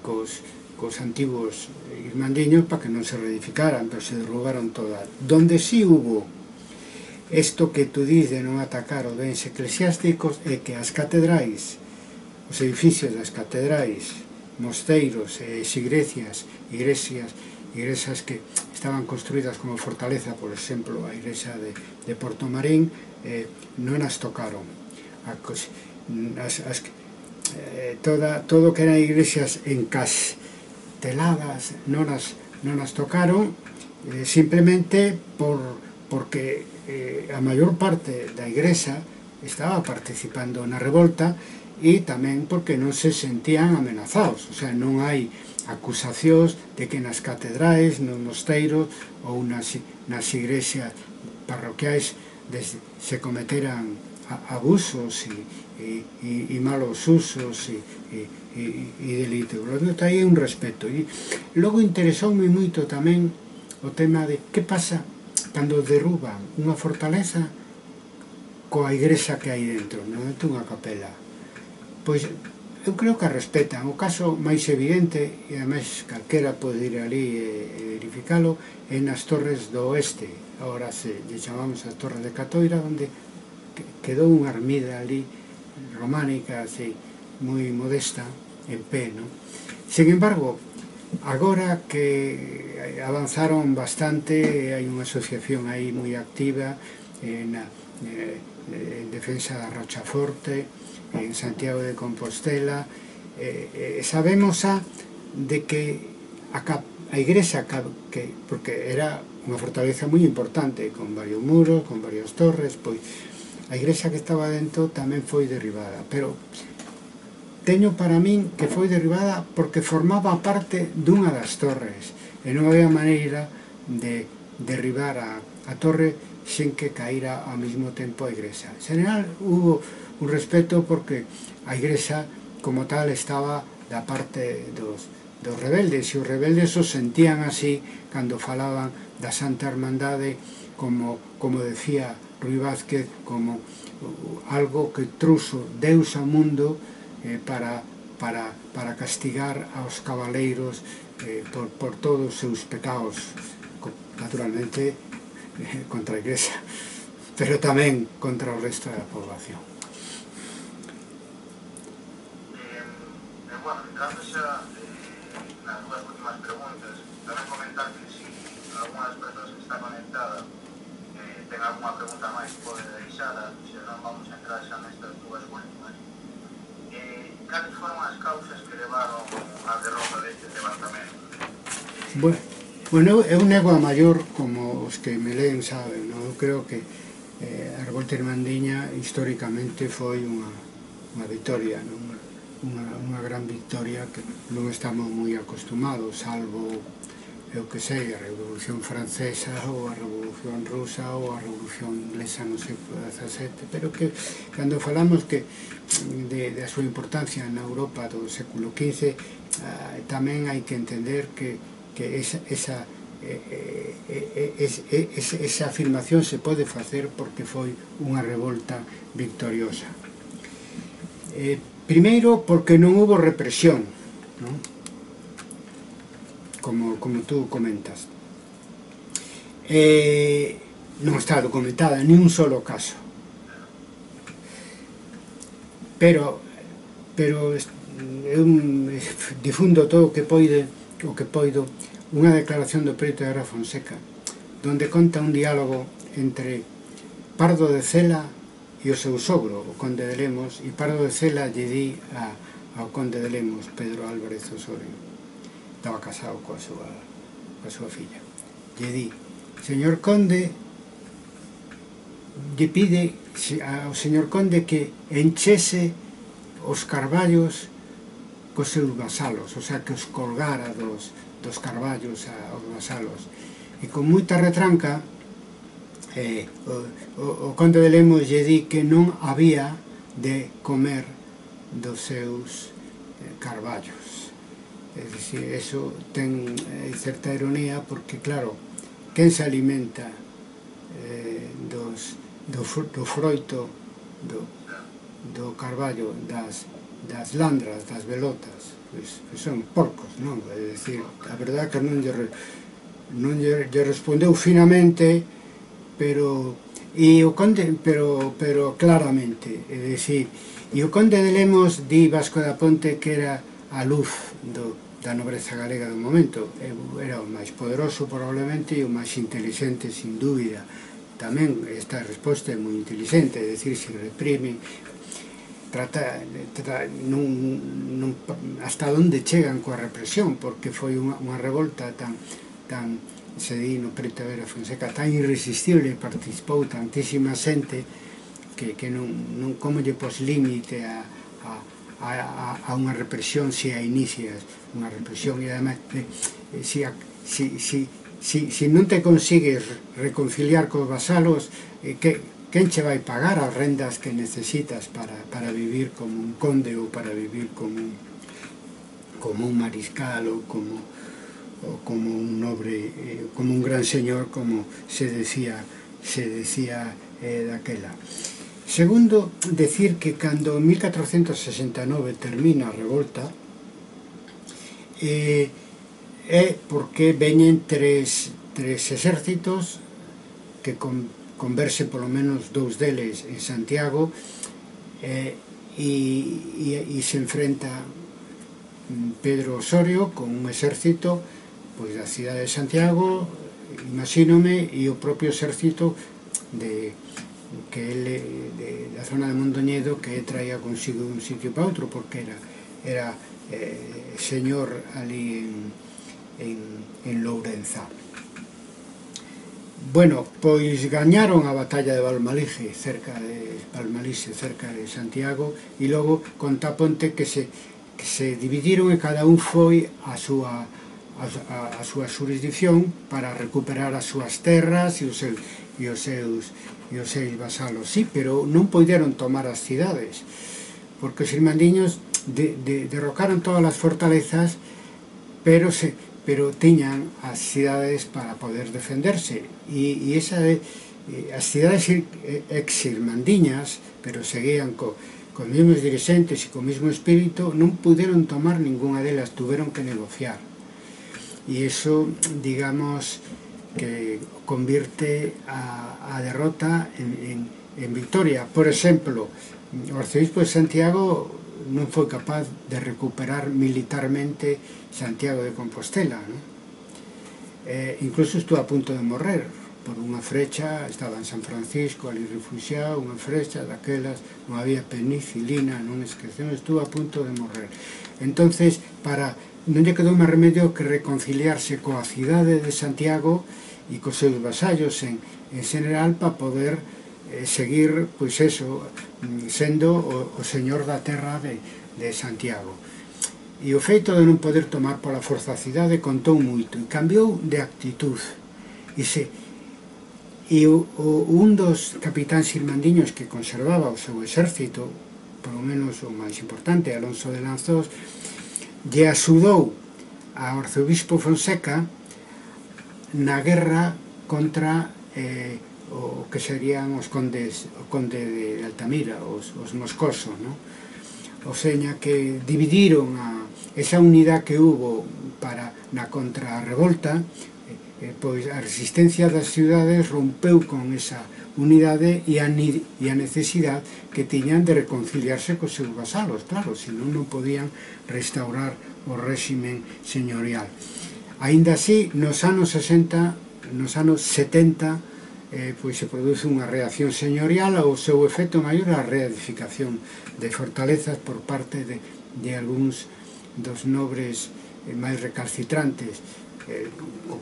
cos antigos irmandiños para que non se reedificaran, pero se derrubaron todas. Donde sí hubo isto que tú dis de non atacar os bens eclesiásticos é que as catedrais, os edificios das catedrais mosteiros e igrexas que estaban construídas como fortaleza, por exemplo, a igrexa de Portomarín, non as tocaron. Todo que eran igrexas encasteladas non as tocaron, simplemente porque a maior parte da igrexa estaba participando na revolta, e tamén porque non se sentían amenazados. O sea, non hai acusacións de que nas catedrais, nos mosteiros ou nas igrexas parroquiais se cometeran abusos e malos usos e delitos. Aí hai un respeto. E logo interesoume moito tamén o tema de que pasa cando derruban unha fortaleza coa igrexa que hai dentro, non é unha capela. Pois eu creo que a respetan. O caso máis evidente, e ademais calquera pode ir ali e verificalo, é nas Torres do Oeste. Agora lle chamamos as Torres de Catoira, onde quedou unha ermida ali románica, así, moi modesta, en pé, non? Sin embargo, agora que avanzaron bastante, hai unha asociación aí moi activa en defensa da Rochaforte, en Santiago de Compostela, sabemos de que a igrexa, porque era unha fortaleza moi importante, con varios muros, con varias torres, pois a igrexa que estaba dentro tamén foi derribada, pero teño para min que foi derribada porque formaba parte dunha das torres, e non había maneira de derribar a torre sen que caíra ao mesmo tempo a igrexa. En general, hubo un respeto porque a igrexa como tal estaba da parte dos rebeldes, e os rebeldes os sentían así cando falaban da Santa Hermandade, como decía Ruy Vázquez, como algo que truxo Deus ao mundo para castigar aos cabaleiros por todos os seus pecados, naturalmente contra a igrexa, pero tamén contra o resto da población. Bueno, entrando xa nas dúas últimas preguntas, tamén comentar que se algunhas persoas que está conectada ten algunha pregunta máis pode deixala, se non vamos a entrar xa nestas dúas últimas. Cales foron as causas que levaron á derrota destes levantamentos? Bueno, eu nego a maior, como os que me leen saben, non? Eu creo que a revolta irmandiña históricamente foi unha victoria, non? Unha gran victoria que non estamos moi acostumados, salvo, eu que sei, a Revolución Francesa ou a Revolución Rusa ou a Revolución Inglesa no século XVII, pero que cando falamos da súa importancia na Europa do século XV, tamén hai que entender que esa afirmación se pode facer porque foi unha revolta victoriosa. Primeiro, porque non hubo represión, non? Como tú comentas. Non está documentada ni un solo caso. Pero eu difundo todo o que poido unha declaración do Preto de Ara Fonseca, donde conta un diálogo entre Pardo de Cela e o seu sogro, o conde de Lemos, e Pardo de Cela lle di ao conde de Lemos, Pedro Álvarez Osorio, estaba casado coa súa filla, lle di: señor conde, lle pide ao señor conde que enchese os carballos cos seus vasalos, o sea, que os colgara dos carballos aos vasalos, e con moita retranca o conde de Lemos lle di que non había de comer dos seus carballos. É dicir, eso ten certa ironía porque, claro, quen se alimenta do froito do carballo das landras, das velotas, pois son porcos, non? É dicir, a verdade que non lle respondeu finamente, pero claramente, é dicir, e o conde de Lemos di Vasco da Ponte que era a luz da nobreza galega do momento. Era o máis poderoso probablemente e o máis inteligente sin dúbida. Tamén esta resposta é moi inteligente, é dicir, se reprime, hasta onde chegan coa represión, porque foi unha revolta tan se di no Preto Vera Fonseca, tan irresistible, participou tantísima xente que non como lle pos límite a unha represión se a inicias unha represión, e además se non te consigues reconciliar cos vasalos, quen che vai pagar as rendas que necesitas para vivir como un conde ou para vivir como un mariscal ou como un nobre, como un gran señor, como se decía daquela. Segundo, decir que cando en 1469 termina a revolta é porque veñen tres exércitos que converse polo menos dous deles en Santiago, e se enfrenta Pedro Osorio con un exército pois da cidade de Santiago, imagínome, e o propio exército da zona de Mondoñedo, que traía consigo un sitio para outro, porque era señor ali en Lourenza. Bueno, pois gañaron a batalla de Valmalise, cerca de Santiago, e logo Contaponte que se dividiron e cada un foi a súa xurisdicción para recuperar as súas terras e os seus vasalos. Sí, pero non poideron tomar as cidades, porque os irmandiños derrocaron todas as fortalezas, pero tiñan as cidades para poder defenderse, e as cidades ex-irmandiñas, pero seguían cos mesmos dirigentes e co mesmo espírito, non puderon tomar ninguna delas, tuveron que negociar, e iso, digamos, que convierte a derrota en victoria. Por exemplo, o arcebispo de Santiago non foi capaz de recuperar militarmente Santiago de Compostela, non? Incluso estuvo a punto de morrer por unha frecha, estaba en San Francisco ali refugiado, unha frecha daquelas, non había penicilina, non esquecemos, estuvo a punto de morrer. Entonces, non lle quedou máis remedio que reconciliarse coa cidade de Santiago e cos seus vasallos en general para poder seguir, pois eso, sendo o señor da terra de Santiago. E o feito de non poder tomar pola forza a cidade contou moito e cambiou de actitud. E un dos capitáns irmandiños que conservaba o seu exército, polo menos o máis importante, Alonso de Lanzós, lle axudou ao arcebispo Fonseca na guerra contra o que serían o conde de Altamira, os moscosos, non? O seña que dividiron esa unidade que hubo na contrarrevolta, pois a resistencia das cidades rompeu con esa unidade e a necesidade que tiñan de reconciliarse cos seus vasalos, claro, senón non podían restaurar o réximen señorial. Aínda así, nos anos 70, pois se produce unha reacción señorial, o seu efecto maior a reedificación de fortalezas por parte de algúns dos nobres máis recalcitrantes,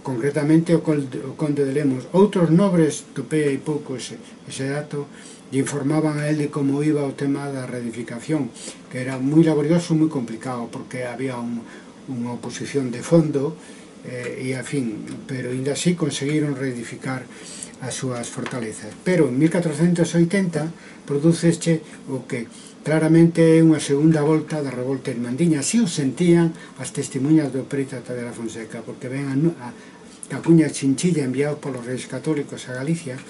concretamente o conde de Lemos. Outros nobres, topei hai pouco ese dato, lle informaban a él de como iba o tema da reedificación, que era moi laborioso, moi complicado, porque había unha oposición de fondo, e a fin, pero ainda así conseguiron reedificar as súas fortalezas. Pero en 1480 producese o que claramente é unha segunda volta da revolta irmandiña. Así o sentían as testemunhas do Preito de la Fonseca, porque ven a Cacuña Chinchilla enviados polos reis católicos a Galicia,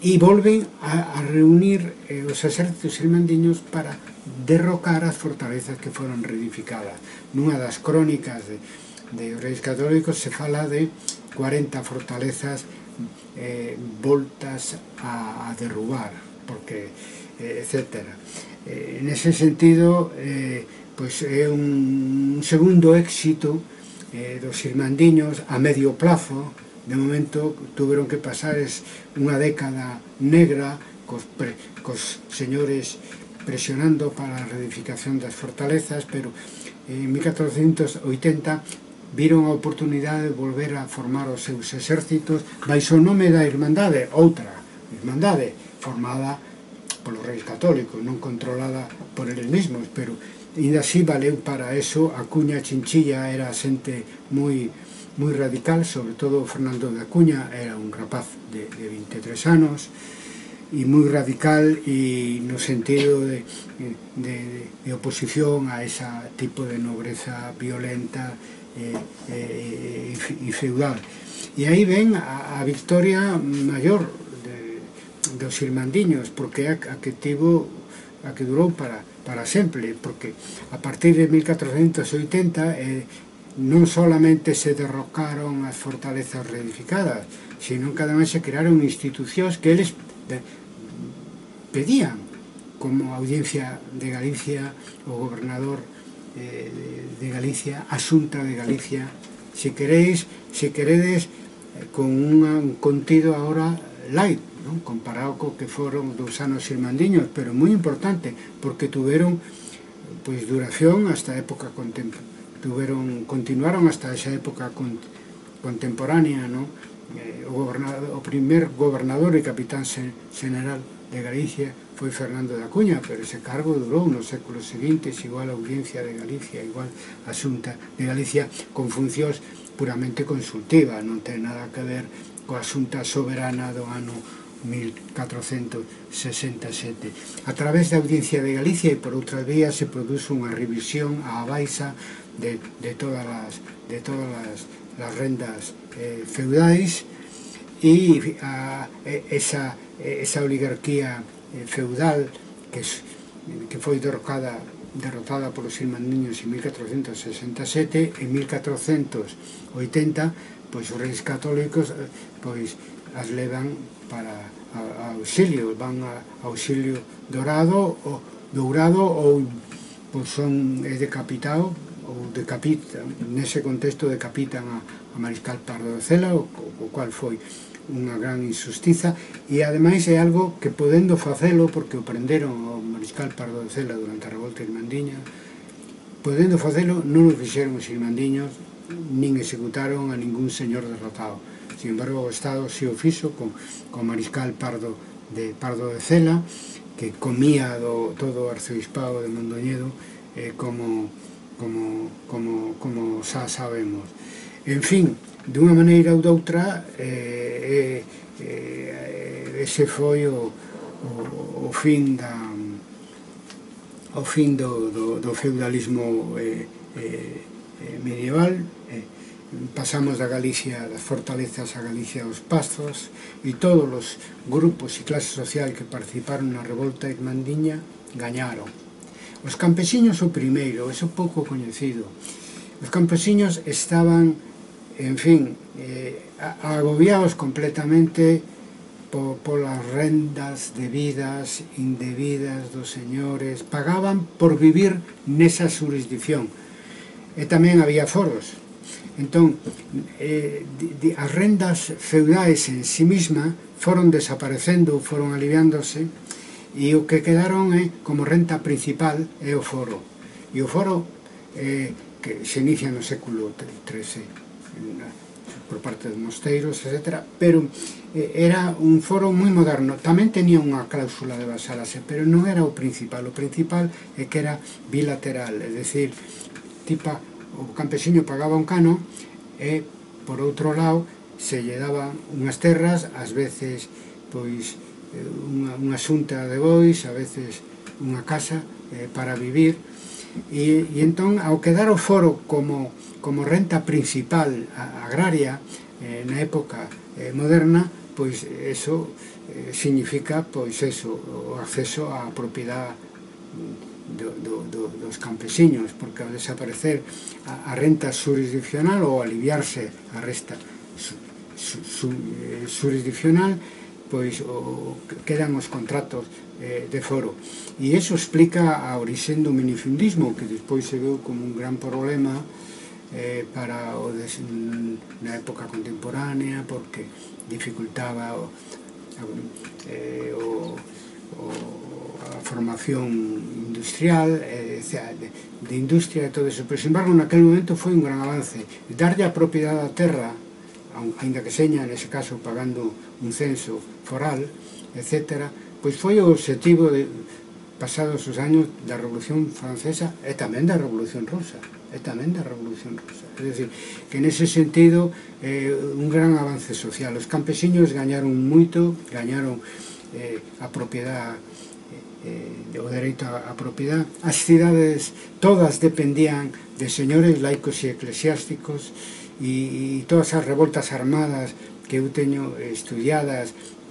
e volven a reunir os exércitos irmandiños para derrocar as fortalezas que foron reedificadas. Nunha das crónicas de reis católicos se fala de 40 fortalezas voltas a derrubar, porque etcétera. En ese sentido, pois é un segundo éxito dos irmandiños a medio plazo. De momento tuveron que pasar unha década negra cos señores presionando para a reedificación das fortalezas, pero en 1480 viron a oportunidade de volver a formar os seus exércitos baixo o nome da Irmandade, outra Irmandade formada polos reis católicos, non controlada por eles mesmos, pero ainda así valeu para eso. A Cuña Chinchilla era xente moi radical, sobre todo Fernando de Acuña era un rapaz de 23 anos e moi radical, e no sentido de oposición a ese tipo de nobreza violenta e feudal. E aí ven a victoria maior dos irmandiños, porque a que durou para sempre, porque a partir de 1480 non solamente se derrocaron as fortalezas reedificadas, sino que ademais se crearon institucións que eles pedían, como a Audiencia de Galicia, o gobernador de Galicia, a Xunta de Galicia, se queredes con un contido agora light, non? Comparado co que foron dos anos irmandiños, pero moi importante, porque tuveron pois duración hasta a época continuaron hasta esa época contemporánea, non? O primer gobernador e capitán general de Galicia foi Fernando de Acuña, pero ese cargo durou nos séculos seguintes, igual a Audiencia de Galicia, igual a Xunta de Galicia, con funcións puramente consultivas, non ten nada que ver coa Xunta soberana do ano 1467. A través da Audiencia de Galicia e por outras vías se produce unha revisión á baixa de todas as rendas feudais, e esa oligarquía feudal que foi derrotada polos irmandiños en 1467. En 1480 pois os reis católicos pois as levan para auxilio, van a auxilio dourado ou pois son decapitado ou decapitan, nese contexto decapitan a Mariscal Pardo de Cela, o cual foi unha gran injustiza, e ademais é algo que podendo facelo, porque o prenderon ao Mariscal Pardo de Cela durante a revolta irmandiña, podendo facelo non o fixeron os irmandiños, nin executaron a ningún señor derrotado. Sin embargo, o Estado si o fixo con Mariscal Pardo de Cela, que comía todo o arcebispado de Mondoñedo, como xa sabemos. En fin, dunha maneira ou doutra, ese foi o fin do feudalismo medieval. Pasamos da Galicia, das fortalezas, a Galicia dos pastos, e todos os grupos e clases sociais que participaron na revolta irmandiña gañaron. Os campesiños o primeiro, eso pouco coñecido. Os campesiños estaban, en fin, agobiados completamente polas rendas debidas, indebidas dos señores. Pagaban por vivir nesa jurisdicción. E tamén había foros. Entón, as rendas feudais en sí mesma foron desaparecendo, foron aliviándose, e o que quedaron como renta principal é o foro. E o foro que se inicia no século XIII por parte dos mosteiros, etc. Pero era un foro moi moderno. Tamén tenía unha cláusula de vasalase, pero non era o principal. O principal é que era bilateral, é dicir, o campesiño pagaba un cano e, por outro lado, se lle daban unhas terras, ás veces, pois, unha xunta de bois, a veces unha casa para vivir, e entón, ao quedar o foro como renta principal agraria na época moderna, pois eso significa, pois eso, o acceso á propiedade dos campesiños, porque ao desaparecer a renta jurisdiccional ou aliviarse a renta jurisdiccional, pois quedan os contratos de foro. E iso explica a origen do minifundismo, que despois se veu como un gran problema para na época contemporánea, porque dificultaba a formación industrial, de industria e todo eso. Pero, sin embargo, naquele momento foi un gran avance. Darlle a propiedade á terra, ainda que seña, nese caso, pagando un censo foral, etc., pois foi o objetivo de pasados os años da Revolución Francesa e tamén da Revolución Rusa. É dicir, que nese sentido un gran avance social. Os campesiños gañaron moito, gañaron a propiedade, o dereito á propiedade. As cidades todas dependían de señores laicos e eclesiásticos, e todas as revoltas armadas que eu teño estudiadas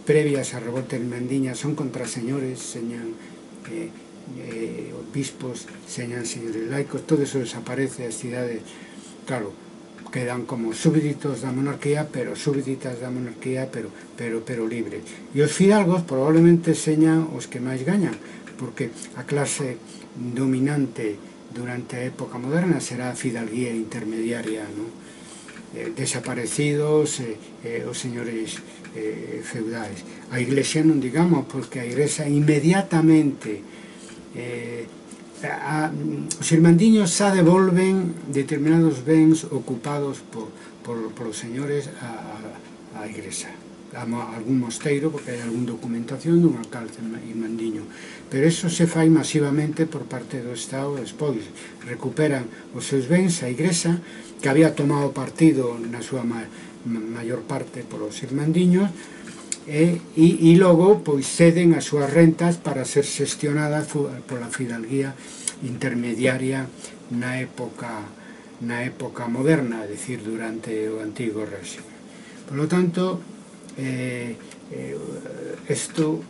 previas á revolta irmandiña son contra señores, señan obispos, señan señores laicos. Todo eso desaparece. As cidades, claro, quedan como súbditos da monarquía, pero súbditas da monarquía, pero libres. E os fidalgos probablemente señan os que máis gañan, porque a clase dominante durante a época moderna será a fidalguía intermediaria, ¿no? Desaparecidos os señores feudais. A Iglesia non digamos, porque a Iglesia inmediatamente os irmandiños xa devolven determinados bens ocupados por os señores á Iglesia, a algún mosteiro, porque hai algún documentación dun alcalde irmandiño, pero eso se fai masivamente por parte do Estado. Despois recuperan os seus bens a Iglesia, que había tomado partido na súa maior parte por os irmandiños, e logo pois ceden as súas rentas para ser xestionadas pola fidalguía intermediaria na época moderna, é dicir, durante o Antigo Réxime. Por lo tanto, isto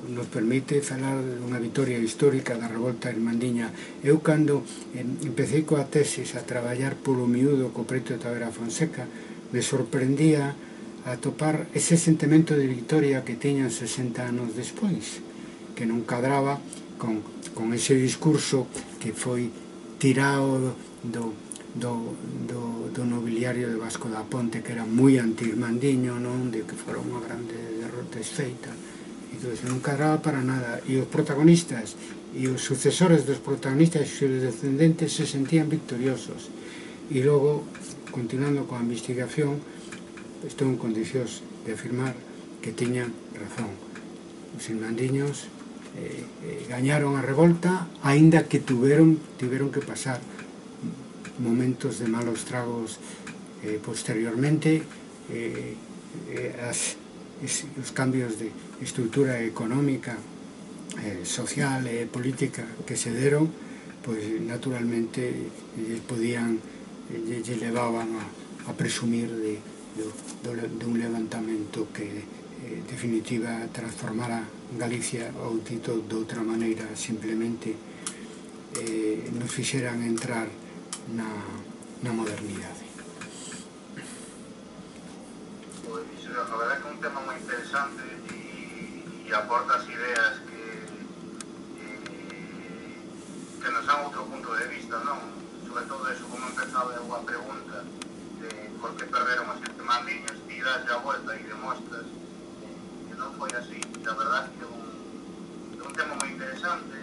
nos permite falar dunha vitoria histórica da revolta irmandiña. Eu, cando empecé coa tesis a traballar polo miúdo co preto de Tavera Fonseca, me sorprendía a topar ese sentimento de victoria que teñan 60 anos despois, que non cadraba con ese discurso que foi tirado do nobiliario de Vasco da Ponte, que era moi anti-irmandiño, non? De que fora unha grande derrota esfeita. Entón, non cadraba para nada. E os protagonistas e os sucesores dos protagonistas e os descendentes se sentían victoriosos. E logo, continuando coa investigación, estou en condicións de afirmar que tiñan razón. Os irmandiños gañaron a revolta, aínda que tiveron que pasar momentos de malos tragos posteriormente. Os cambios de estrutura económica, social e política que se deron, pois naturalmente lle levaban a presumir de un levantamento que en definitiva transformara Galicia, ou dito de outra maneira, simplemente nos fixeran entrar na modernidade. Pois, a verdade é que é un tema moi interesante e aporta as ideas que nos dan outro punto de vista, non? Sobre todo eso, como empezaba eu a pregunta de por que perderon os irmandiños, ti das a volta e demostras que non foi así. A verdade que é un tema moi interesante.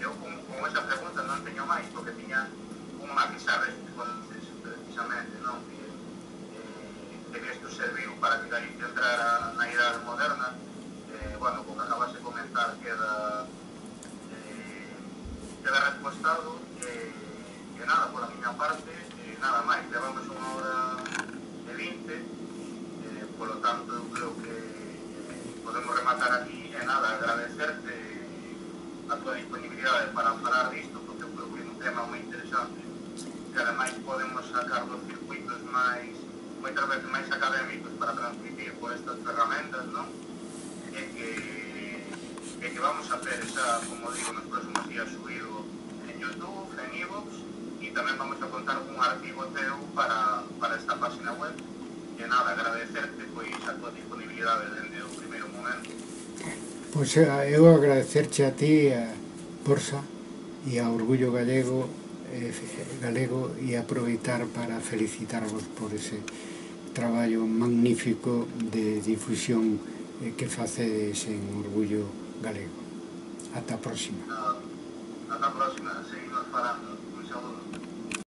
Eu con esa pregunta non teño máis, porque tiña unha pizarra precisamente, non? Que isto serviu para que Galicia entrara na idade moderna. Bueno, como acabas de comentar, queda respostado. E nada, por a miña parte, nada máis. Levamos unha hora e 20, polo tanto, eu creo que podemos rematar aquí. E nada, agradecerte a tua disponibilidade para falar disto, porque eu creo que é un tema moi interesante, que ademais podemos sacar dos circuitos moitas veces máis académicos para transmitir por estas ferramentas, non? E que vamos a hacer esa, como digo, nos próximos días subido en YouTube, en iVoox, e tamén vamos a contar un artigo teu para esta página web. E nada, agradecerte pois a tua disponibilidade dende o primeiro momento. Pois eu agradecerche a ti, a Borsa, e a Orgullo Galego, e aproveitar para felicitarvos por ese traballo magnífico de difusión que facedes en Orgullo Galego. Ata a próxima. Ata a próxima, seguimos falando.